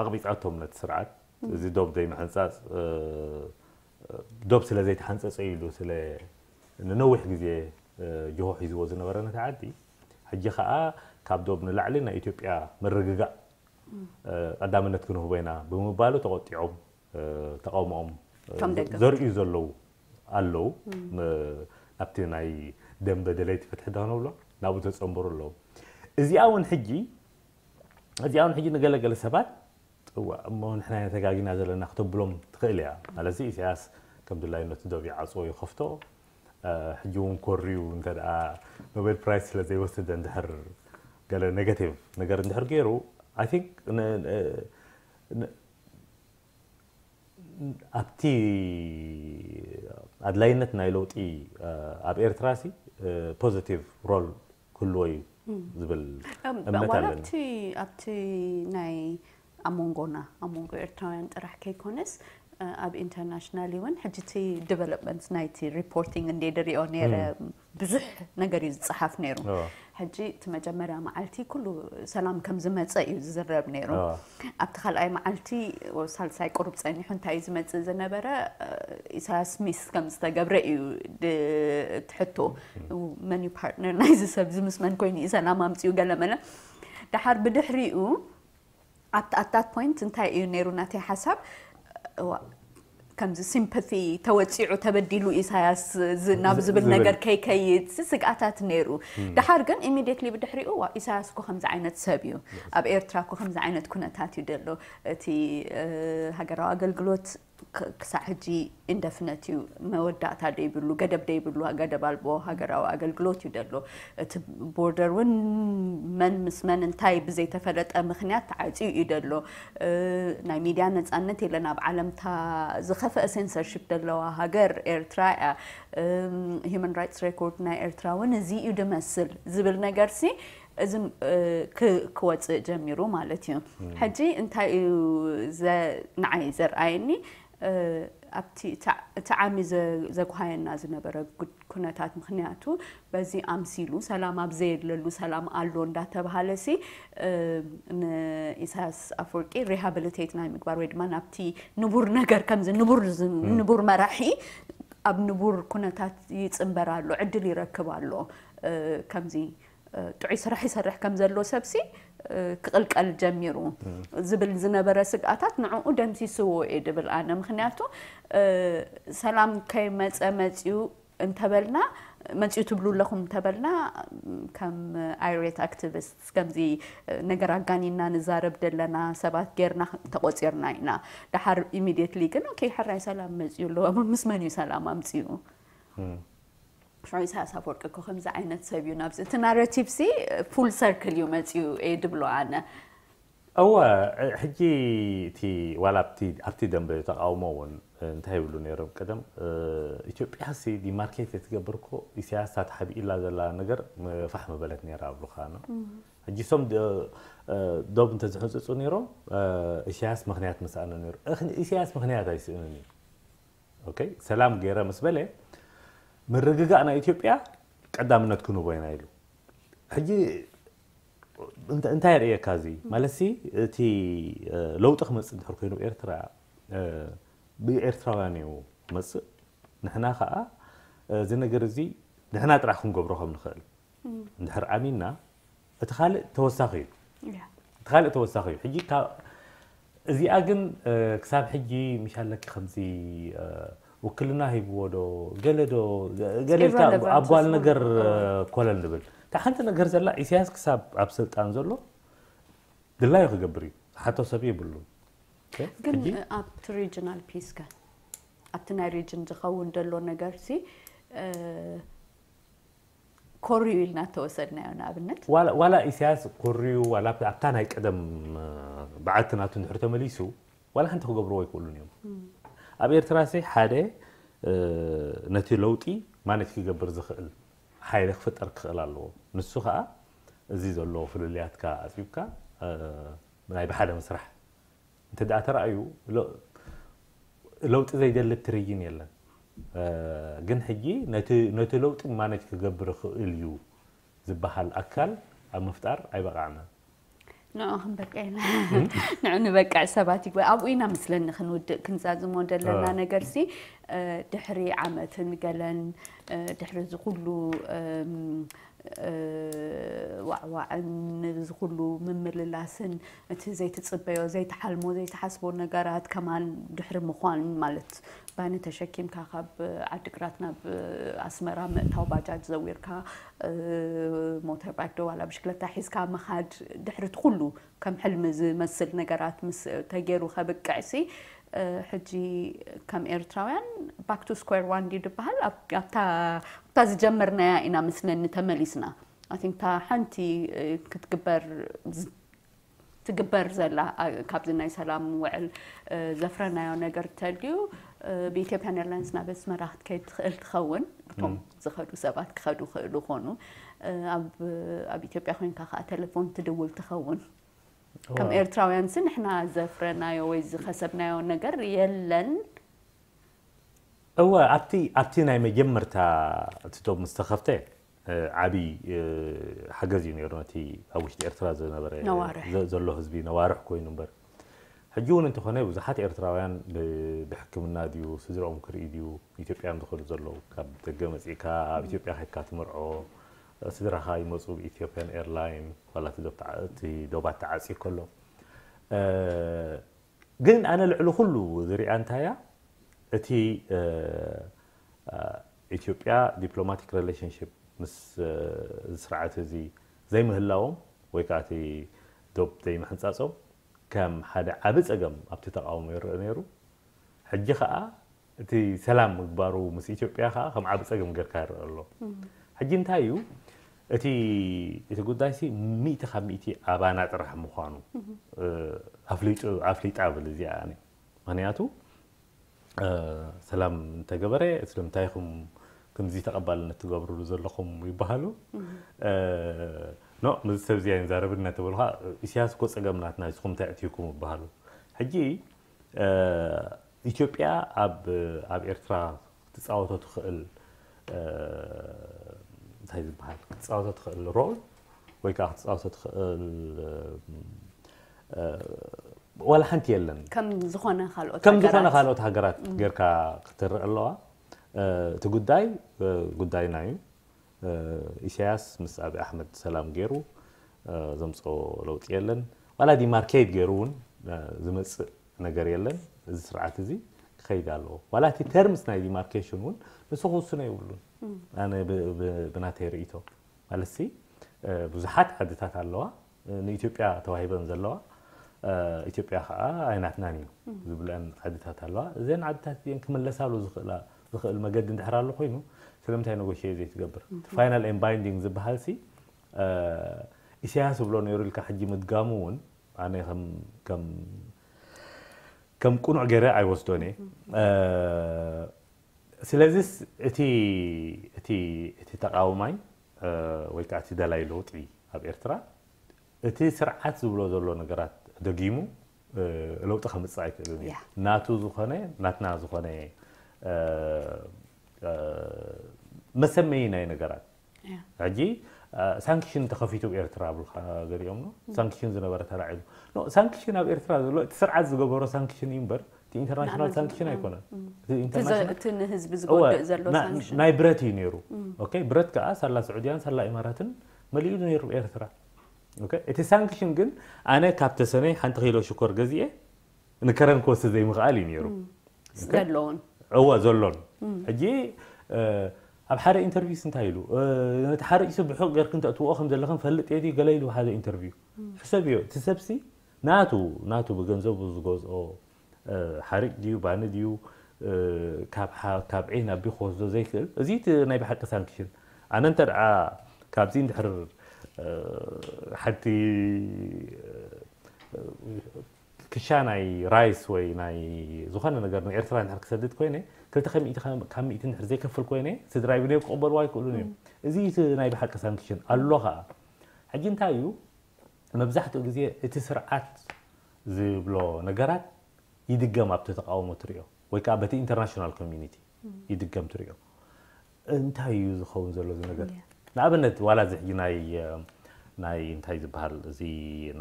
ኣቕቢጻቶም ነቲ ስርዓት። እዚ ዶብ ዘይምሕንጻጽ እ፣ ዶብ ስለ ዘይተሓንጸጸ ኢሉ ስለ ንነዊሕ ግዜ እ፣ ጅሆ ሒዝዎ ዝነበረ ነቲ ዓዲ ሕጂ ከኣ ካብ ዶብ ንላዕሊ ናይ ኢትዮጵያ ምርግጋእ እ፣ ቀዳምነት ክንህቦ ኢና ብምባሉ ተቆጢዖም እ፣ ተቃውሞኦም እ፣ ከም ደገፍቲ። ዘርእዩ ዘለዉ ኣለዉ። ም- ናብቲ ናይ ደንበ ደለይቲ ፍትሒ ዶ ንብሎ ናብኡ ተጸንበሩ ኣለዉ። እዚኣ እውን ሕጂ እዚኣ እውን ሕጂ ንገለገለ ሰባት እዋ እሞ ንሕና ኢና ተጋጊና ዘለና ክተብሎም ትኽእል እያ። ማለት ኢሳያስ ከም ድላይነቱ ዶብ ይዓጽዎ ይኸፍቶ እ፣ ሕጂ እውን ኮርዩ እንተ ደኣ ኖቤል ፕራይስ ስለ ዘይወሰደ እንድሕር ገለ ኔጋቲቭ ነገር እንድሕር ገይሩ I think ን- ን- ን- ኣብቲ ኣድላይነት ናይ ለውጢ እ፣ ኣብ ኤርትራ ሲ ፖዚቲቭ ሮል ክህልዎ እዩ ዝብል እምነት ዋላ ኣለኒ። ኣብቲ ኣብቲ ናይ ኣብ መንጎና ኣብ መንጎ ኤርትራውያን ጥራሕ ከይኮነስ እ፣ ኣብ ኢንተርናሽናል እውን ሕጂ እቲ ዲቨሎፕመንት ናይቲ ሪፖርቲንግ እንደ ድሪኦ ነይረ ብዙሕ ነገር እዩ ዝፀሓፍ ነይሩ። እዎ። ሕጂ እቲ መጀመርያ መዓልቲ ኩሉ ሰላም ከም ዝመፀ እዩ ዝዝረብ ነይሩ። እዎ። ኣብቲ ካልኣይ መዓልቲ ወ- ሳልሳይ ቁሩብ ፀኒሑ እንታይ እዩ ዝመፅእ ዝነበረ እ፣ ኢሳያስ ሚስ ከም ዝተገብረ እዩ ድ- እቲ ሕቶ መን እዩ ፓርትነር ናይዚ ሰብ እዚ ምስ መን ኮይኑ እዩ ሰላም ኣምፅኡ ገለ መለ። ደሓር ብድሕሪኡ ኣብቲ ኣታት ፖይንት እንታይ እዩ ነይሩ ናተይ ሓሳብ እዋ፣ ከምዚ ሲምፓቲ ተወፂዑ ተበዲሉ ኢሳያስ ዝ- ናብ ዝብል ዝብል። ነገር ከይከይድ ሲ ስግኣታት ነይሩ። ደሓር ግን ኢሚዲየትሊ ብድሕሪኡ ዋ ኢሳያስ እኮ ከምዚ ዓይነት ሰብ እዩ፣ ኣብ ኤርትራ እኮ ከምዚ ዓይነት ኩነታት እዩ ዘሎ፣ እቲ እ፣ ሃገራዊ ኣገልግሎት ክ- ክሳዕ ሕጂ ኢንደፍነት እዩ፣ መወዳእታ ደይብሉ፣ ገደብ ደይብሉ፣ ገደብ ኣልቦ ሃገራዊ ኣገልግሎት እዩ ደሎ። እቲ ቦርደር እውን መን ምስ መን እንታይ ብዘይተፈለጠ ምክንያት ተዓፅዩ እዩ ደሎ። እ፣ ናይ ሚድያ ነፃነት የለን ኣብ ዓለምታ፣ ዝኸፍአ ሴንሰርሺፕ ደለዋ ሃገር ኤርትራ እያ። ሂማን ራይትስ ሬኮርድ ናይ ኤርትራ እውን እዚ እዩ ድመስል ዝብል ነገር ሲ እዚ እ፣ ክ- ክወፅእ ጀሚሩ ማለት እዩ። ሕጂ እንታይ እዩ ዘ- ንዓይ ዘርኣየኒ እ፣ ኣብቲ እቲ- እቲ ዓሚ ዘ- ዘጉሃየና ዝነበረ ጉድ- ኩነታት ምክንያቱ በዚ ኣምሲሉ ሰላም ኣብ ዘየለሉ ሰላም ኣሎ እንዳተባሃለ ሲ እ፣ ንኢሳያስ ኣፈወርቂ ሪሃብሊቴት ናይ ምግባር ወይ ድማ ናብቲ ንቡር ነገር ከምዚ ንቡር ዝ- ንቡር መራሒ ኣብ ንቡር ኩነታት ይፅንበር ኣሎ ዕድል ይረክብ ኣሎ እ፣ ከምዚ እ፣ ጥዑይ ስራሕ ይሰርሕ ከም ዘሎ ሰብሲ እ፣ ክቕልቀል ጀሚሩ ዝብል ዝነበረ ስግኣታት ንዕኡ ደምሲስዎ እየ ድብል ኣነ። ምክንያቱ እ፣ ሰላም ከይመፀ መፅዩ እንተበልና መፅዩ ትብሉ ኣለኹም እንተበልና ከም ኣይሬት ኣክቲቪስት ከምዚ እ፣ ነገር ኣጋኒና ንዛረብ ደለና ሰባት ጌርና ተቆፂርና ኢና። ደሓር ኢሚዲየትሊ ግን ኦኬ ሕራይ ሰላም መፅዩ ኣለዎ። ምስ መን እዩ ሰላም ኣምፅኡ? ሽዑ ኢሳያስ ኣፈወርቂ እኮ ከምዚ ዓይነት ሰብ እዩ ናብዚ እቲ ናረቲቭ ሲ ፉል ሰርክል እዩ መፅዩ እየ ድብሎ ኣነ። እወ ሕጂ እቲ ዋላ ኣብቲ ኣብቲ ደንበ ተቃውሞ እውን እንታይ ይብሉ ነይሮም ቀደም እ፣ ኢትዮጵያ ሲ ዲማርኬት ትገብር እኮ ኢሳያስ እታ ተሓቢእላ ዘላ ነገር ም- ፋሕ ምበለት ነይራ ኣብሉካ ነው። ሕጂ እሶም ደ- እ፣ ዶብ እንተዝሕንፅፁ ነይሮም እ፣ ኢሳያስ ምክንያት ምስኣነ ነይሩ። እኽ- ኢሳያስ ምክንያት ኣይስእንን እዩ። ኦኬ ሰላም ገይረ ምስ በለ ምርግጋእ ናይ ኢትዮጵያ ቀዳምነት ክንቦ ኢና ኢሉ። ሕጂ እንተ- እንታይ የርእየካ እዚ ማለት ሲ እቲ እ፣ ለውጢ ክመፅእ እንድሕር ኮይኑ ኤርትራ እ፣ ብኤርትራውያን እዩ መፅእ። ንሕና ከዓ እ፣ እዚ ነገር እዚ ንሕና ጥራሕ ክንገብሮ ከም ንኽእል እንድሕር ኣሚንና እቲ ካልእ ተወሳኺ እዩ። ያ። እቲ ካልእ ተወሳኺ እዩ። ሕጂ ካብ እዚኣ ግን እ፣ ክሳብ ሕጂ ምሻለኪ ከምዚ እ፣ ውክልና ሂብዎ ዶ ገለ ዶ ገለ ኢልካ Irrelevant ኣብ ጓል ዝኾነ። ነገር እ፣ ኮለል ንብል እታ ሓንቲ ነገር ዘላ ኢሳያስ ክሳብ ኣብ ስልጣን ዘሎ ድላዩ ክገብር እዩ። ዝሓቶ ሰብ የብሉን። ኦኬ? ግን ሕጂ እ፣ ኣብቲ ሪጅናል ፒስ ከ ኣብቲ ናይ ሪጅን ዝኸውን ዘሎ ነገር ሲ እ፣ ኮርዩ ኢልና ተወሰድናዮ ንኣብነት ዋላ ዋላ ኢሳያስ ኮርዩ ዋላ ኣብታ ናይ ቀደም እ፣ በዓልቲ ናቱ እንድሕር ተመሊሱ ዋላ ሓንቲ ክገብርዎ ኣይክእሉን እዮም። ኣብ ኤርትራ ሲ ሓደ ነቲ ለውጢ ማነጅ ክገብር ዝኽእል ሓይሊ ክፍጠር ክኽእል ኣለዎ። ንሱ ኸኣ እዚ ዘሎ ፍልልያትካ ኣጽቢብካ ናይ ብሓደ ምስራሕ እንተ ደኣ ተራእዩ ለውጢ ዘይደሊ ትርይን የለን። ግን ሕጂ ነቲ ለውጢ ማነጅ ክገብር ይኽእል እዩ ዝበሃል ኣካል ኣብ ምፍጣር ኣይበቓዕናን። ንዑ ክንበቅዕ ኢና። ንዑ ንበቅዕ ሰባት ይግበ ኣብኡ ኢና ምስለኒ ክንውድእ ክንዛዝሞ ዘለና ነገር ሲ ድሕሪ ዓመትን ገለን ድሕሪ እዚ ኩሉ ዋዕዋዕን እዚ ኩሉ ምምልላስን እቲ ዘይትፅበዮ ዘይትሓልሞ ዘይትሓስቦ ነገራት ከማን ድሕሪ ምኳን ማለት ባኒ ተሸኪምካ ካብ ዓድግራት ናብ ኣስመራ ምእታው ባጃጅ ዘዊርካ ሞተር ባይክ ዶ ዋላ ብሽክለታ ሒዝካ ምኻድ ድሕሪ እቲ ኩሉ ከም ሕልሚ ዝመስል ነገራት ምስ ተገይሩ ከብቅዕሲ ሕጂ ከም ኤርትራውያን back to square one ድዩ ዝበሃል ኣብታ ዝጀመርናያ ኢና ምስለኒ ተመሊስና ኣቲንታ ሓንቲ ክትግበር ትግበር ዘላ ካብዚ ናይ ሰላም ውዕል ዘፍረናዮ ነገር ተልዩ ብኢትዮጵያን ኤርላይንስ ናብ ኣስመራ ክትከይድ ትኽእል ትኸውን እቶም ዝኸዱ ሰባት ክኸዱ ክእሉ ኾኑ ኣብ ኢትዮጵያ ኮይንካ ከዓ ቴሌፎን ትድውል ትኸውን ከም ኤርትራውያን ሲ ንሕና ዘፍረናዮ ወይ ዝኸሰብናዮ ነገር የለን እወ ኣብቲ ኣብቲ ናይ መጀመርታ እቲ ዶብ ምስ ተኸፍተ ዓብዪ ሓገዝ እዩ ነይሩ ነቲ ኣብ ውሽጢ ኤርትራ ዝነበረ ዘሎ ህዝቢ ነዋርሕ ኮይኑ እምበር ሕጂ እውን እንተኾነ ብዙሓት ኤርትራውያን ብሕክምና ድዩ ስድራኦም ክርኢ ድዩ ኢትዮጵያ እዮም ዝኸዱ ዘለዉ ካብ ደገ መፂእካ ኣብ ኢትዮጵያ ከድካ ትምርዖ ስድራኻ ይመፁ ብኢትዮጵያን ኤርላይን ዋላ እቲ ዶባት ተዓፅዩ ከሎ ግን ኣነ ልዕሊ ኩሉ ዝሪኣ እንታይ እያ እቲ ኢትዮጵያ ዲፕሎማቲክ ሪሌሽንሽፕ ምስ እዚ ስርዓት እዚ ዘይምህላዎም ወይ ከዓ እቲ ዶብ ዘይምሕንፃፆም ከም ሓደ ዓቢ ፀገም ኣብቲ ተቃውሞ ይረአ ነይሩ። ሕጂ ከዓ እቲ ሰላም ምግባሩ ምስ ኢትዮጵያ ከዓ ከም ዓቢ ፀገም ጌርካ ይረአ ኣሎ። ሕጂ እንታይ እዩ እቲ እቲ ጉዳይ ሲ ሚእቲ ካብ ሚእቲ ኣባና ጥራሕ ምዃኑ ኣፍሊጡ ኣፍሊጣ ብል እዚኣ ኣነ ምክንያቱ ሰላም እንተገበረ ስለምንታይ ኢኹም ከምዚ ተቐባልነት ትገብርሉ ዘለኹም ይበሃሉ ኖ ምዚ ሰብ እዚ ኣይንዛረብን እናተበሉ ከዓ ኢሳያስ እኮ ፀገም ናትና ንስኹም እንታይ ኣእትዩኩም ይበሃሉ ሕጂ ኢትዮጵያ ኣብ ኣብ ኤርትራ ክትፃወቶ ትኽእል እንታይ ዝበሃል ክትፃወቶ ትኽእል ሮል ወይ ከዓ ክትፃወቶ ትኽእል ዋላ ሓንቲ የለን ከም ዝኾነ ካልኦት ከም ዝኾነ ካልኦት ሃገራት ጌርካ ክትርእ ኣለዋ እቲ ጉዳይ ጉዳይና እዩ ኢሳያስ ምስ ኣብይ ኣሕመድ ሰላም ገይሩ ዘምፅኦ ለውጢ የለን ዋላ ዲማርኬት ገይሩ እውን ዝመፅእ ነገር የለን እዚ ስርዓት እዚ ክኸይድ ኣለዎ ዋላ እቲ ተርምስ ናይ ዲማርኬሽን እውን ንሱ ክውስኖ የብሉን ኣነ ብናተይ ርእቶ ማለት ሲ ብዙሓት ዓድታት ኣለዋ ንኢትዮጵያ ተዋሂበን ዘለዋ ኢትዮጵያ ከዓ ኣይናትናን እዩ ዝብለን ዓድታት ኣለዋ እዘን ዓድታት እዚአን ክምለሳሉ ዝኽእል መገዲ እንድሕር ኣሎ ኮይኑ ስለምንታይ ነጎሽየ ዘይትገብር ፋይናል ኤን ባይንዲንግ ዝበሃል ሲ ኢሳያስ ዝብሎ ነይሩ ኢልካ ሕጂ ምድጋሙ እውን ኣነ ከም ከም ቅኑዕ ገይረ ኣይወስዶን እየ ስለዚስ እቲ እቲ እቲ ተቃውማይ ወይ ከዓ እቲ ደላይ ለውጢ ኣብ ኤርትራ እቲ ስርዓት ዝብሎ ዘሎ ነገራት ደጊሙ ለውጢ ከምፅእ ኣይክእልን እዩ ናቱ ዝኾነ ናትና ዝኾነ መሰመይ ናይ ነገራት ሕጂ ሳንክሽን ተኸፊቱ ኤርትራ ብልካ ገሊኦም ነው ሳንክሽን ዝነበረ ተላዒሉ ሳንክሽን ኣብ ኤርትራ ዘሎ እቲ ስርዓት ዝገበሮ ሳንክሽን እዩ እምበር እቲ ኢንተርናሽናል ሳንክሽን ኣይኮነን እቲ ንህዝቢ ዝጎድእ ዘሎ ናይ ብረት እዩ ነይሩ ብረት ከዓ ሳላ ስዑድያን ሳላ ኢማራትን መሊኡ ነይሩ ኤርትራ እቲ ሳንክሽን ግን ኣነ ካብ ተሰነይ ሓንቲ ኪሎ ሽኮር ገዚኤ ንከረን ክወስድ ዘይምኽኣል እዩ ነይሩ ዘለውን እወ ዘሎን ሕጂ ኣብ ሓደ ኢንተርቪውስ እንታይ ኢሉ ነቲ ሓሪጭ ብሑቕ ገርክ እንተእትዎ ከም ዘለኽን ፈልጥ የዲ ገለ ኢሉ ሓደ ኢንተርቪው ሕሰብ እዮ እቲ ሰብሲ ናቱ ናቱ ብገንዘቡ ዝገዝኦ ሓሪጭ ድዩ ባኒ ድዩ ካብ ዒን ኣቢ ክወስዶ ዘይክእል እዚ ናይ ብሓቂ ሳንክሽን ኣነ እንተ ካብዚ እንድሕር ሓንቲ ክሻ ናይ ራይስ ወይ ናይ ዝኾነ ነገር ንኤርትራ እንድሕር ክሰድድ ኮይነ ክልተ ካብ ሚእቲ እንድሕር ዘይከፍል ኮይነ ስድራይ ብደዮም ክቕበልዋ ኣይክእሉን እዮም። እዚ እቲ ናይ ብሓቂ ሳንክሽን ኣሎ ከዓ። ሕጂ እንታይ እዩ መብዛሕትኡ ግዜ እቲ ስርዓት ዝብሎ ነገራት ይድገም ኣብቲ ተቃውሞ ትሪኦ ወይ ከዓ በቲ ኢንተርናሽናል ኮሚኒቲ ይድገም ትሪኦ። እንታይ እዩ ዝኸውን ዘሎ እዚ ነገር? ንኣብነት ዋላ እዚ ሕጂ ናይ ናይ እንታይ ዝበሃል እዚ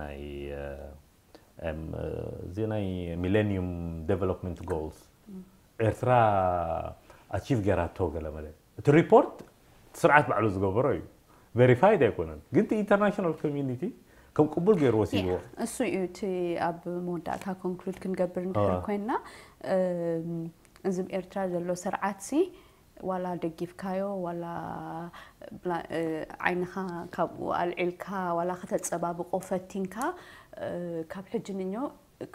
ናይ እዚ ናይ ሚሌኒየም ዴቨሎፕመንት ጎልስ ኤርትራ ኣቺቭ ገይራቶ ገለ መለ እቲ ሪፖርት ስርዓት ባዕሉ ዝገበሮ እዩ። ቨሪፋይድ ኣይኮነን ግን እቲ ኢንተርናሽናል ኮሚኒቲ ከም ቅቡል ገይሩ ወሲድዎ። እሱ እዩ እቲ ኣብ መወዳእታ ኮንክሉድ ክንገብር እንድሕር ኮይንና እዚ ኤርትራ ዘሎ ስርዓት ሲ ዋላ ደጊፍካዮ ዋላ ዓይንኻ ካብኡ ኣልዒልካ ዋላ ከተፀባብቆ ፈቲንካ ካብ ሕጂ ንኞ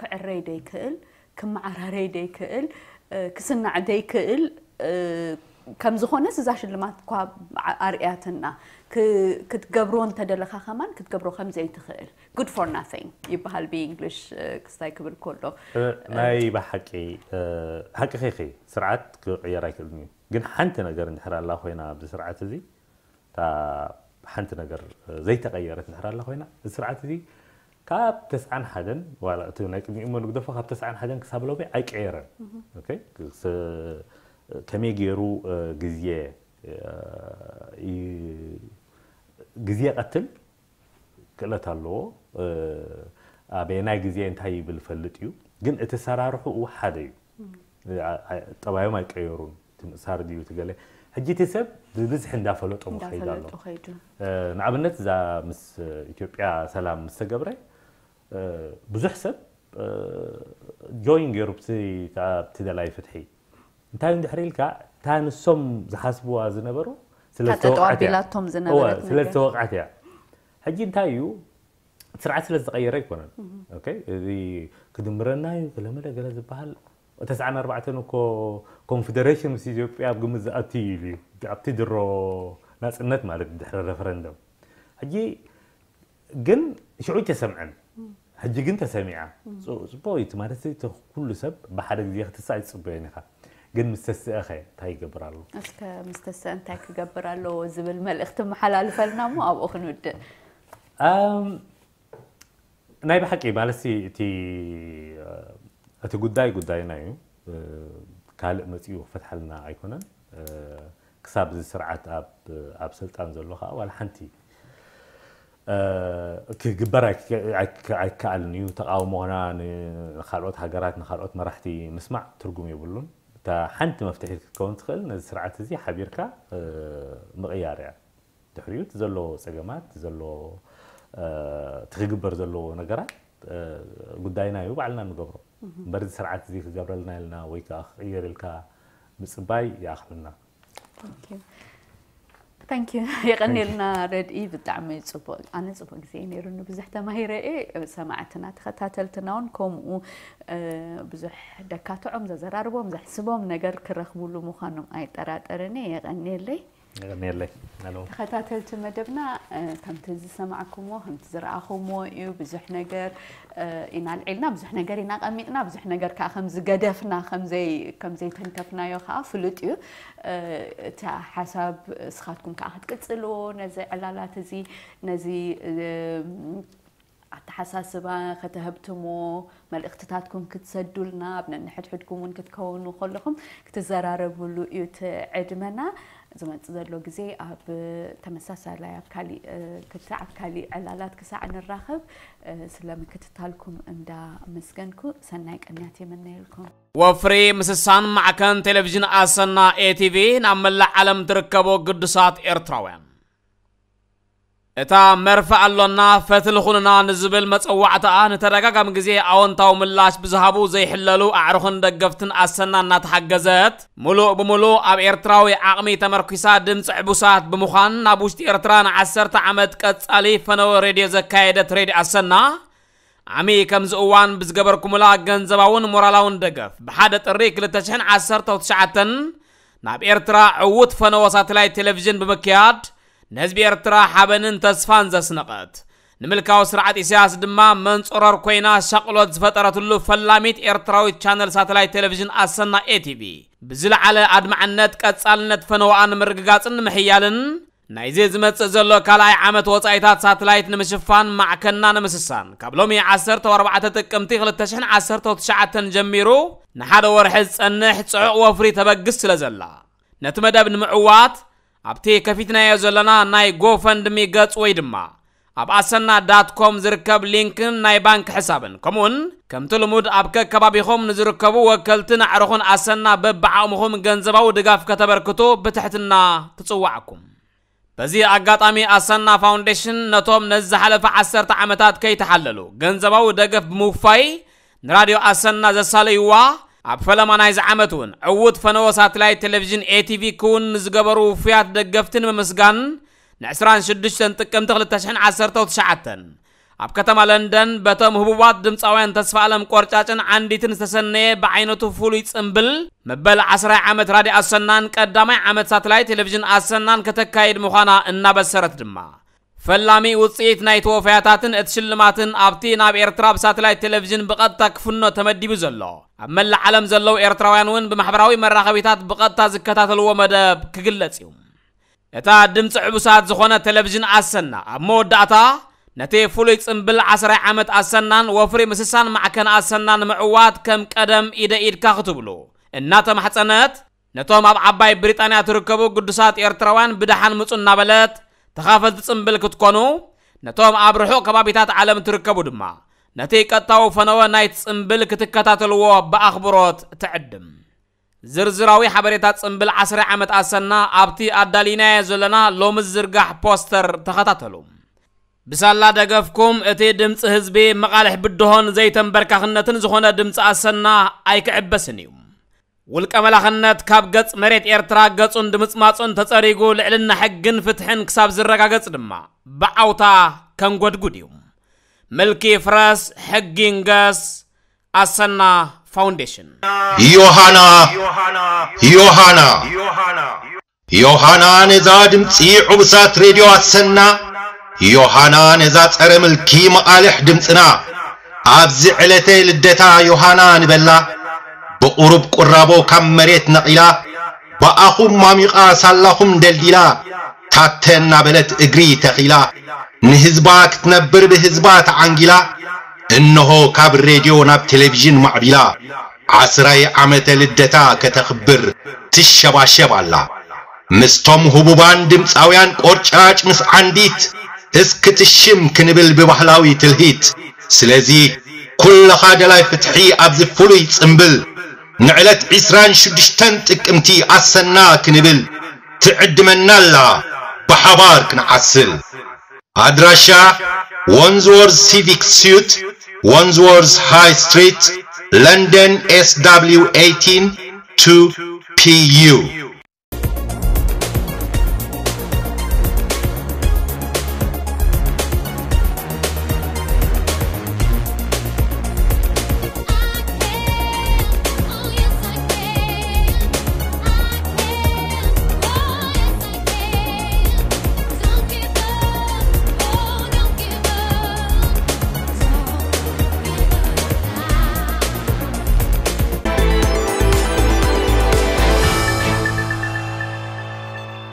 ክዕረይ ደይክእል ክመዓራረይ ደይክእል ክስናዕ ደይክእል ከም ዝኾነስ እዛ ሽልማት እኳ ኣርእያትና ክትገብሮ እንተደለኻ ከማን ክትገብሮ ከም ዘይትኽእል good for nothing ይበሃል ብእንግሊሽ ክስታይ ክብል ከሎ ናይ ብሓቂ ሓቂ ኸይኸ ስርዓት ክቕየር ኣይክእልን እዩ ግን ሓንቲ ነገር እንድሕር ኣላ ኮይና ኣብዚ ስርዓት እዚ እታ ሓንቲ ነገር ዘይተቐየረት እንድሕር ኣላ ኮይና እዚ ስርዓት እዚ ካብ ተስዓን ሓደን ዋላ እቲ ናይ ቅድሚኡ እሞ ንግደፎ ካብ ተስዓን ሓደን ክሳብ ሎሚ ኣይቀየረን ከመይ ገይሩ ግዜ ግዜ ቀትል ክእለት ኣለዎ ኣበየናይ ግዜ እንታይ ይብል ፈልጥ እዩ ግን እቲ ሰራርሑ ሓደ እዩ ጠባዮም ኣይቀየሩን ትምእሳር ድዩ ትገለ ሕጂ እቲ ሰብ ብብዝሒ እንዳፈለጦ ክኸይድ ኣሎ ንኣብነት እዛ ምስ ኢትዮጵያ ሰላም ምስ ተገብረ ብዙሕ ሰብ ጆይን ገይሩ ብቲ ደላይ ፍትሒ እንታይ እንድሕር ኢልካ እታ ንሶም ዝሓስብዋ ዝነበሩ ስለዝተወቃዕት እያ ሕጂ እንታይ እዩ ስርዓት ስለ ዝተቐየረ ኣይኮነን እዚ ክድምረና እዩ ገለመለ ገለ ዝበሃል ተስዓን ኣርባዕተን እኮ ኮንፌደሬሽን ምስ ኢትዮጵያ ኣብ ግምት ዝኣትዩ ኢሉ እዩ ኣብቲ ድሮ ናፅነት ማለት ድሕሪ ረፈረንደም ሕጂ ግን ሽዑ ተሰምዐን ሕጂ ግን ተሰሚዓ ፅቡቅ እዩ ማለት ኩሉ ሰብ ብሓደ ግዜ ክትሳእ ይፅበዮን ኢኻ ግን ምስ ተስእኸ እንታይ ይገብር ኣሎ እስከ ምስ ተስአ እንታይ ክገብር ኣለዎ ዝብል መልእኽቲ መሓላልፈልና እሞ ኣብኡ ክንውድእ ናይ ብሓቂ ማለት እቲ እቲ ጉዳይ ጉዳይና እዩ ካልእ መፅኡ ክፈትሓልና ኣይኮነን ክሳብ እዚ ስርዓት ኣብ ስልጣን ዘሎ ከዓ ዋላ ሓንቲ ክግበር ኣይከኣልን እዩ ተቃውሞና ንካልኦት ሃገራት ንካልኦት መራሕቲ ምስማዕ ትርጉም የብሉን እታ ሓንቲ መፍትሒ ክትከውን ትኽእል ነዚ ስርዓት እዚ ሓቢርካ ምቕያር እያ ድሕሪኡ እቲ ዘሎ ፀገማት ዘሎ እቲ ክግበር ዘለዎ ነገራት ጉዳይና እዩ ባዕልና ንገብሮ እምበር እዚ ስርዓት እዚ ክገብረልና ኢልና ወይ ከዓ ክቕየር ኢልካ ምፅባይ ይኣኽለና Thank you የቐኒልና ረድኢ ብጣዕሚ ፅቡቅ ኣነ ፅቡቅ ግዜ ነይሩኒ ብዙሕ ተማሂረ እየ ሰማዕትና ተኸታተልትና እውን ከምኡ ብዙሕ ደካትዖም ዘዘራርቦም ዘሕስቦም ነገር ክረኽቡሉ ምዃኖም ኣይጠራጠርን እየ የቐኒየለይ የቐኒየለይ ተኸታተልቲ መደብና ከምቲ ዝሰማዕኩምዎ ከምቲ ዝረኣኹምዎ እዩ ብዙሕ ነገር ኢና ኣልዒልና ብዙሕ ነገር ኢና ቀሚጥና ብዙሕ ነገር ከዓ ከም ዝገደፍና ከም ዘይተንከፍናዮ ከዓ ፍሉጥ እዩ እቲ ሓሳብ እስኻትኩም ከዓ ክትቅፅልዎ ነዚ ዕላላት እዚ ነዚ ኣተሓሳስባ ከተህብትሞ መልእኽትታትኩም ክትሰዱልና ኣብ ነንሕድሕድኩም እውን ክትከውኑ ከለኹም ክትዘራረብሉ እዩ እቲ ዕድመና ዝመፅእ ዘሎ ግዜ ኣብ ተመሳሳላይ ኣብ ካሊእ ክትዕ ኣብ ካሊእ ዕላላት ክሳዕ ንራኸብ ስለ ምክትታልኩም እንዳመስገንኩ ሰናይ ቅንያት የመነየልኩም ወፍሪ ምስሳን ማዕከን ቴሌቪዥን ኣሰና ኤቲቪ ናብ መላእ ዓለም ትርከቦ ግዱሳት ኤርትራውያን እታ መርፍእ ኣሎና ፈትሊ ኩንና ንዝብል መጸዋዕታኣ ንተደጋጋሚ ግዜ ኣወንታዊ ምላሽ ብዝሃቡ ዘይሕለሉ ኣዕሩኽን ደገፍትን ኣሰና እናተሓገዘት፣ ሙሉእ ብሙሉእ ኣብ ኤርትራዊ ዓቕሚ ተመርኲሳ ድምጺ ዕቡሳት ብምዃን፣ ናብ ውሽጢ ኤርትራ ንዓሰርተ ዓመት ቀጻሊ ፈነወ ሬድዮ ዘካየደት ሬድዮ ኣሰና፣ ዓሚ ከምዚ እዋን ብዝገበርኩምላ ገንዘባውን ሞራላውን ደገፍ፣ ብሓደ ጥሪ ክልተ ሽሕን ዓሰርተው ትሽዓተን ናብ ኤርትራ ዕዉት ፈነወ ሳተላይት ቴሌቪዥን ብምክያድ፣ ንህዝቢ ኤርትራ ሓበንን ተስፋን ዘስነቐት፣ ንምልካዊ ስርዓት ኢሳያስ ድማ መንጾረር ኮይና ሻቕሎት ዝፈጠረትሉ ፈላሚት ኤርትራዊት ቻነል ሳተላይት ቴሌቪዥን ኣሰና ኤቲቪ ብዝለዓለ ኣድማዕነት ቀጻልነት ፈነወኣ ንምርግጋጽን ንምሕያልን ናይዚ ዝመጽእ ዘሎ ካልኣይ ዓመት ወጻኢታት ሳተላይት ንምሽፋን ማዕከና ንምስሳን ካብ ሎሚ ዓሰርተ ኣርባዕተ ጥቅምቲ ክልተ ሽሕን ዓሰርተ ትሽዓተን ጀሚሩ ንሓደ ወርሒ ዝጸንሕ ጽዑቕ ወፍሪ ተበግስ ስለ ዘላ ነቲ መደብ ንምዕዋት ኣብቲ ከፊትናዮ ዘለና ናይ ጎፈንድሚ ገጽ ወይ ድማ ኣብ ኣሰና ዳት ኮም ዝርከብ ሊንክን ናይ ባንክ ሕሳብን ከምኡውን ከምቲ ልሙድ ኣብ ከከባቢኹም ንዝርከቡ ወከልትን ኣዕሩኹን ኣሰና በብዓቕምኹም ገንዘባዊ ድጋፍ ከተበርክቱ ብትሕትና ትጽዋዕኩም። በዚ ኣጋጣሚ ኣሰና ፋውንዴሽን ነቶም ነዚ ዝሓለፈ ዓሰርተ ዓመታት ከይተሓለሉ ገንዘባዊ ደገፍ ብምውፋይ ንራድዮ ኣሰና ዘሳለይዋ ኣብ ፈለማ ናይዚ ዓመት እውን ዕዉት ፈነወ ሳተላይት ቴሌቪዥን ኤቲቪ ክውን ንዝገበሩ ውፉያት ደገፍቲ ንምምስጋን ን ዕስራን ሽዱሽተን ጥቅምቲ ክልተ ሽሕን ዓሰርተ ትሽዓተን ኣብ ከተማ ለንደን በቶም ህቡባት ድምፃውያን ተስፋ ኣለም ቆርጫጭን ዓንዲትን ዝተሰነየ ብዓይነቱ ፍሉይ ጽምብል መበል ዓስራይ ዓመት ራድዮ ኣሰናን ቀዳማይ ዓመት ሳተላይት ቴሌቪዥን ኣሰናን ከተካይድ ምዃና እናበሰረት ድማ ፈላሚ ውፅኢት ናይ ተወፈያታትን እቲ ሽልማትን ኣብቲ ናብ ኤርትራ ብሳተላይት ቴሌቪዥን ብቐጥታ ክፍኖ ተመዲቡ ዘሎ ኣብ መላእ ዓለም ዘለዉ ኤርትራውያን እውን ብማሕበራዊ መራኸቢታት ብቐጥታ ዝከታተልዎ መደብ ክግለጽ እዩ። እታ ድምፂ ዕቡሳት ዝኾነ ቴሌቪዥን ኣሰና ኣብ መወዳእታ ነቲ ፍሉይ ጽምብል ዓስራይ ዓመት ኣሰናን ወፍሪ ምስሳን ማዕከን ኣሰና ንምዕዋት ከም ቀደም ኢደ ኢድካ ክትብሉ እናተማሕጸነት ነቶም ኣብ ዓባይ ብሪጣንያ ትርከቡ ግዱሳት ኤርትራውያን ብደሓን ምጹ እናበለት ተኻፈልቲ ጽምብል ክትኮኑ ነቶም ኣብ ርሑቕ ከባቢታት ዓለም ትርከቡ ድማ ነቲ ቀጥታዊ ፈነወ ናይቲ ጽምብል ክትከታተልዎ ብኣኽብሮት ትዕድም። ዝርዝራዊ ሓበሬታ ጽምብል ዓስራይ ዓመት ኣሰና ኣብቲ ኣዳሊናዮ ዘለና ሎሚ ዝዝርጋሕ ፖስተር ተኸታተሉ። ብሳላ ደገፍኩም እቲ ድምፂ ህዝቢ መቓልሕ ብድሆን ዘይተንበርካኽነትን ዝኾነ ድምፂ ኣሰና ኣይክዕበስን እዩ። ውልቀ መላኽነት ካብ ገጽ መሬት ኤርትራ ገጹን ድምጽማጹን ተጸሪጉ ልዕልና ሕግን ፍትሕን ክሳብ ዝረጋገጽ ድማ ብዓውታ ከንጎድጉድ እዩ። ምልኪ ፍረስ ሕጊ ንገስ። ኣሰና ፋውንዴሽን። ዮሃና ዮሃና ዮሃና ነዛ ድምፂ ዕቡሳት ሬድዮ ኣሰና፣ ዮሃና ነዛ ጸረ ምልኪ መቓልሕ ድምፅና፣ ኣብዚ ዕለተ ልደታ ዮሃና ንበላ። ብቑሩብ ቁራቦ ካብ መሬት ነቒላ፣ ብኣኹም ማሚቓ ሳላኹም ደልዲላ፣ ታተ እናበለት እግሪ ተኺላ፣ ንህዝባ ክትነብር ብህዝባ ተዓንጊላ፣ እንሆ ካብ ሬድዮ ናብ ቴሌቪዥን ማዕቢላ፣ ዓስራይ ዓመተ ልደታ ከተኽብር ትሸባሸብ ኣላ። ምስቶም ህቡባን ድምፃውያን ቆርጫጭ ምስ ዓንዲት እስክትሽም ክንብል ብባህላዊ ትልሂት። ስለዚ ኩልኻ ደላይ ፍትሒ ኣብዚ ፍሉይ ጽምብል ንዕለት ዕስራን ሽዱሽተን ጥቅምቲ ኣሰና ክንብል ትዕድመና ኣላ ብሓባር ክንዓስል። ኣድራሻ Wandsworth Civic Suite, Wandsworth High Street, London S W eighteen two P U።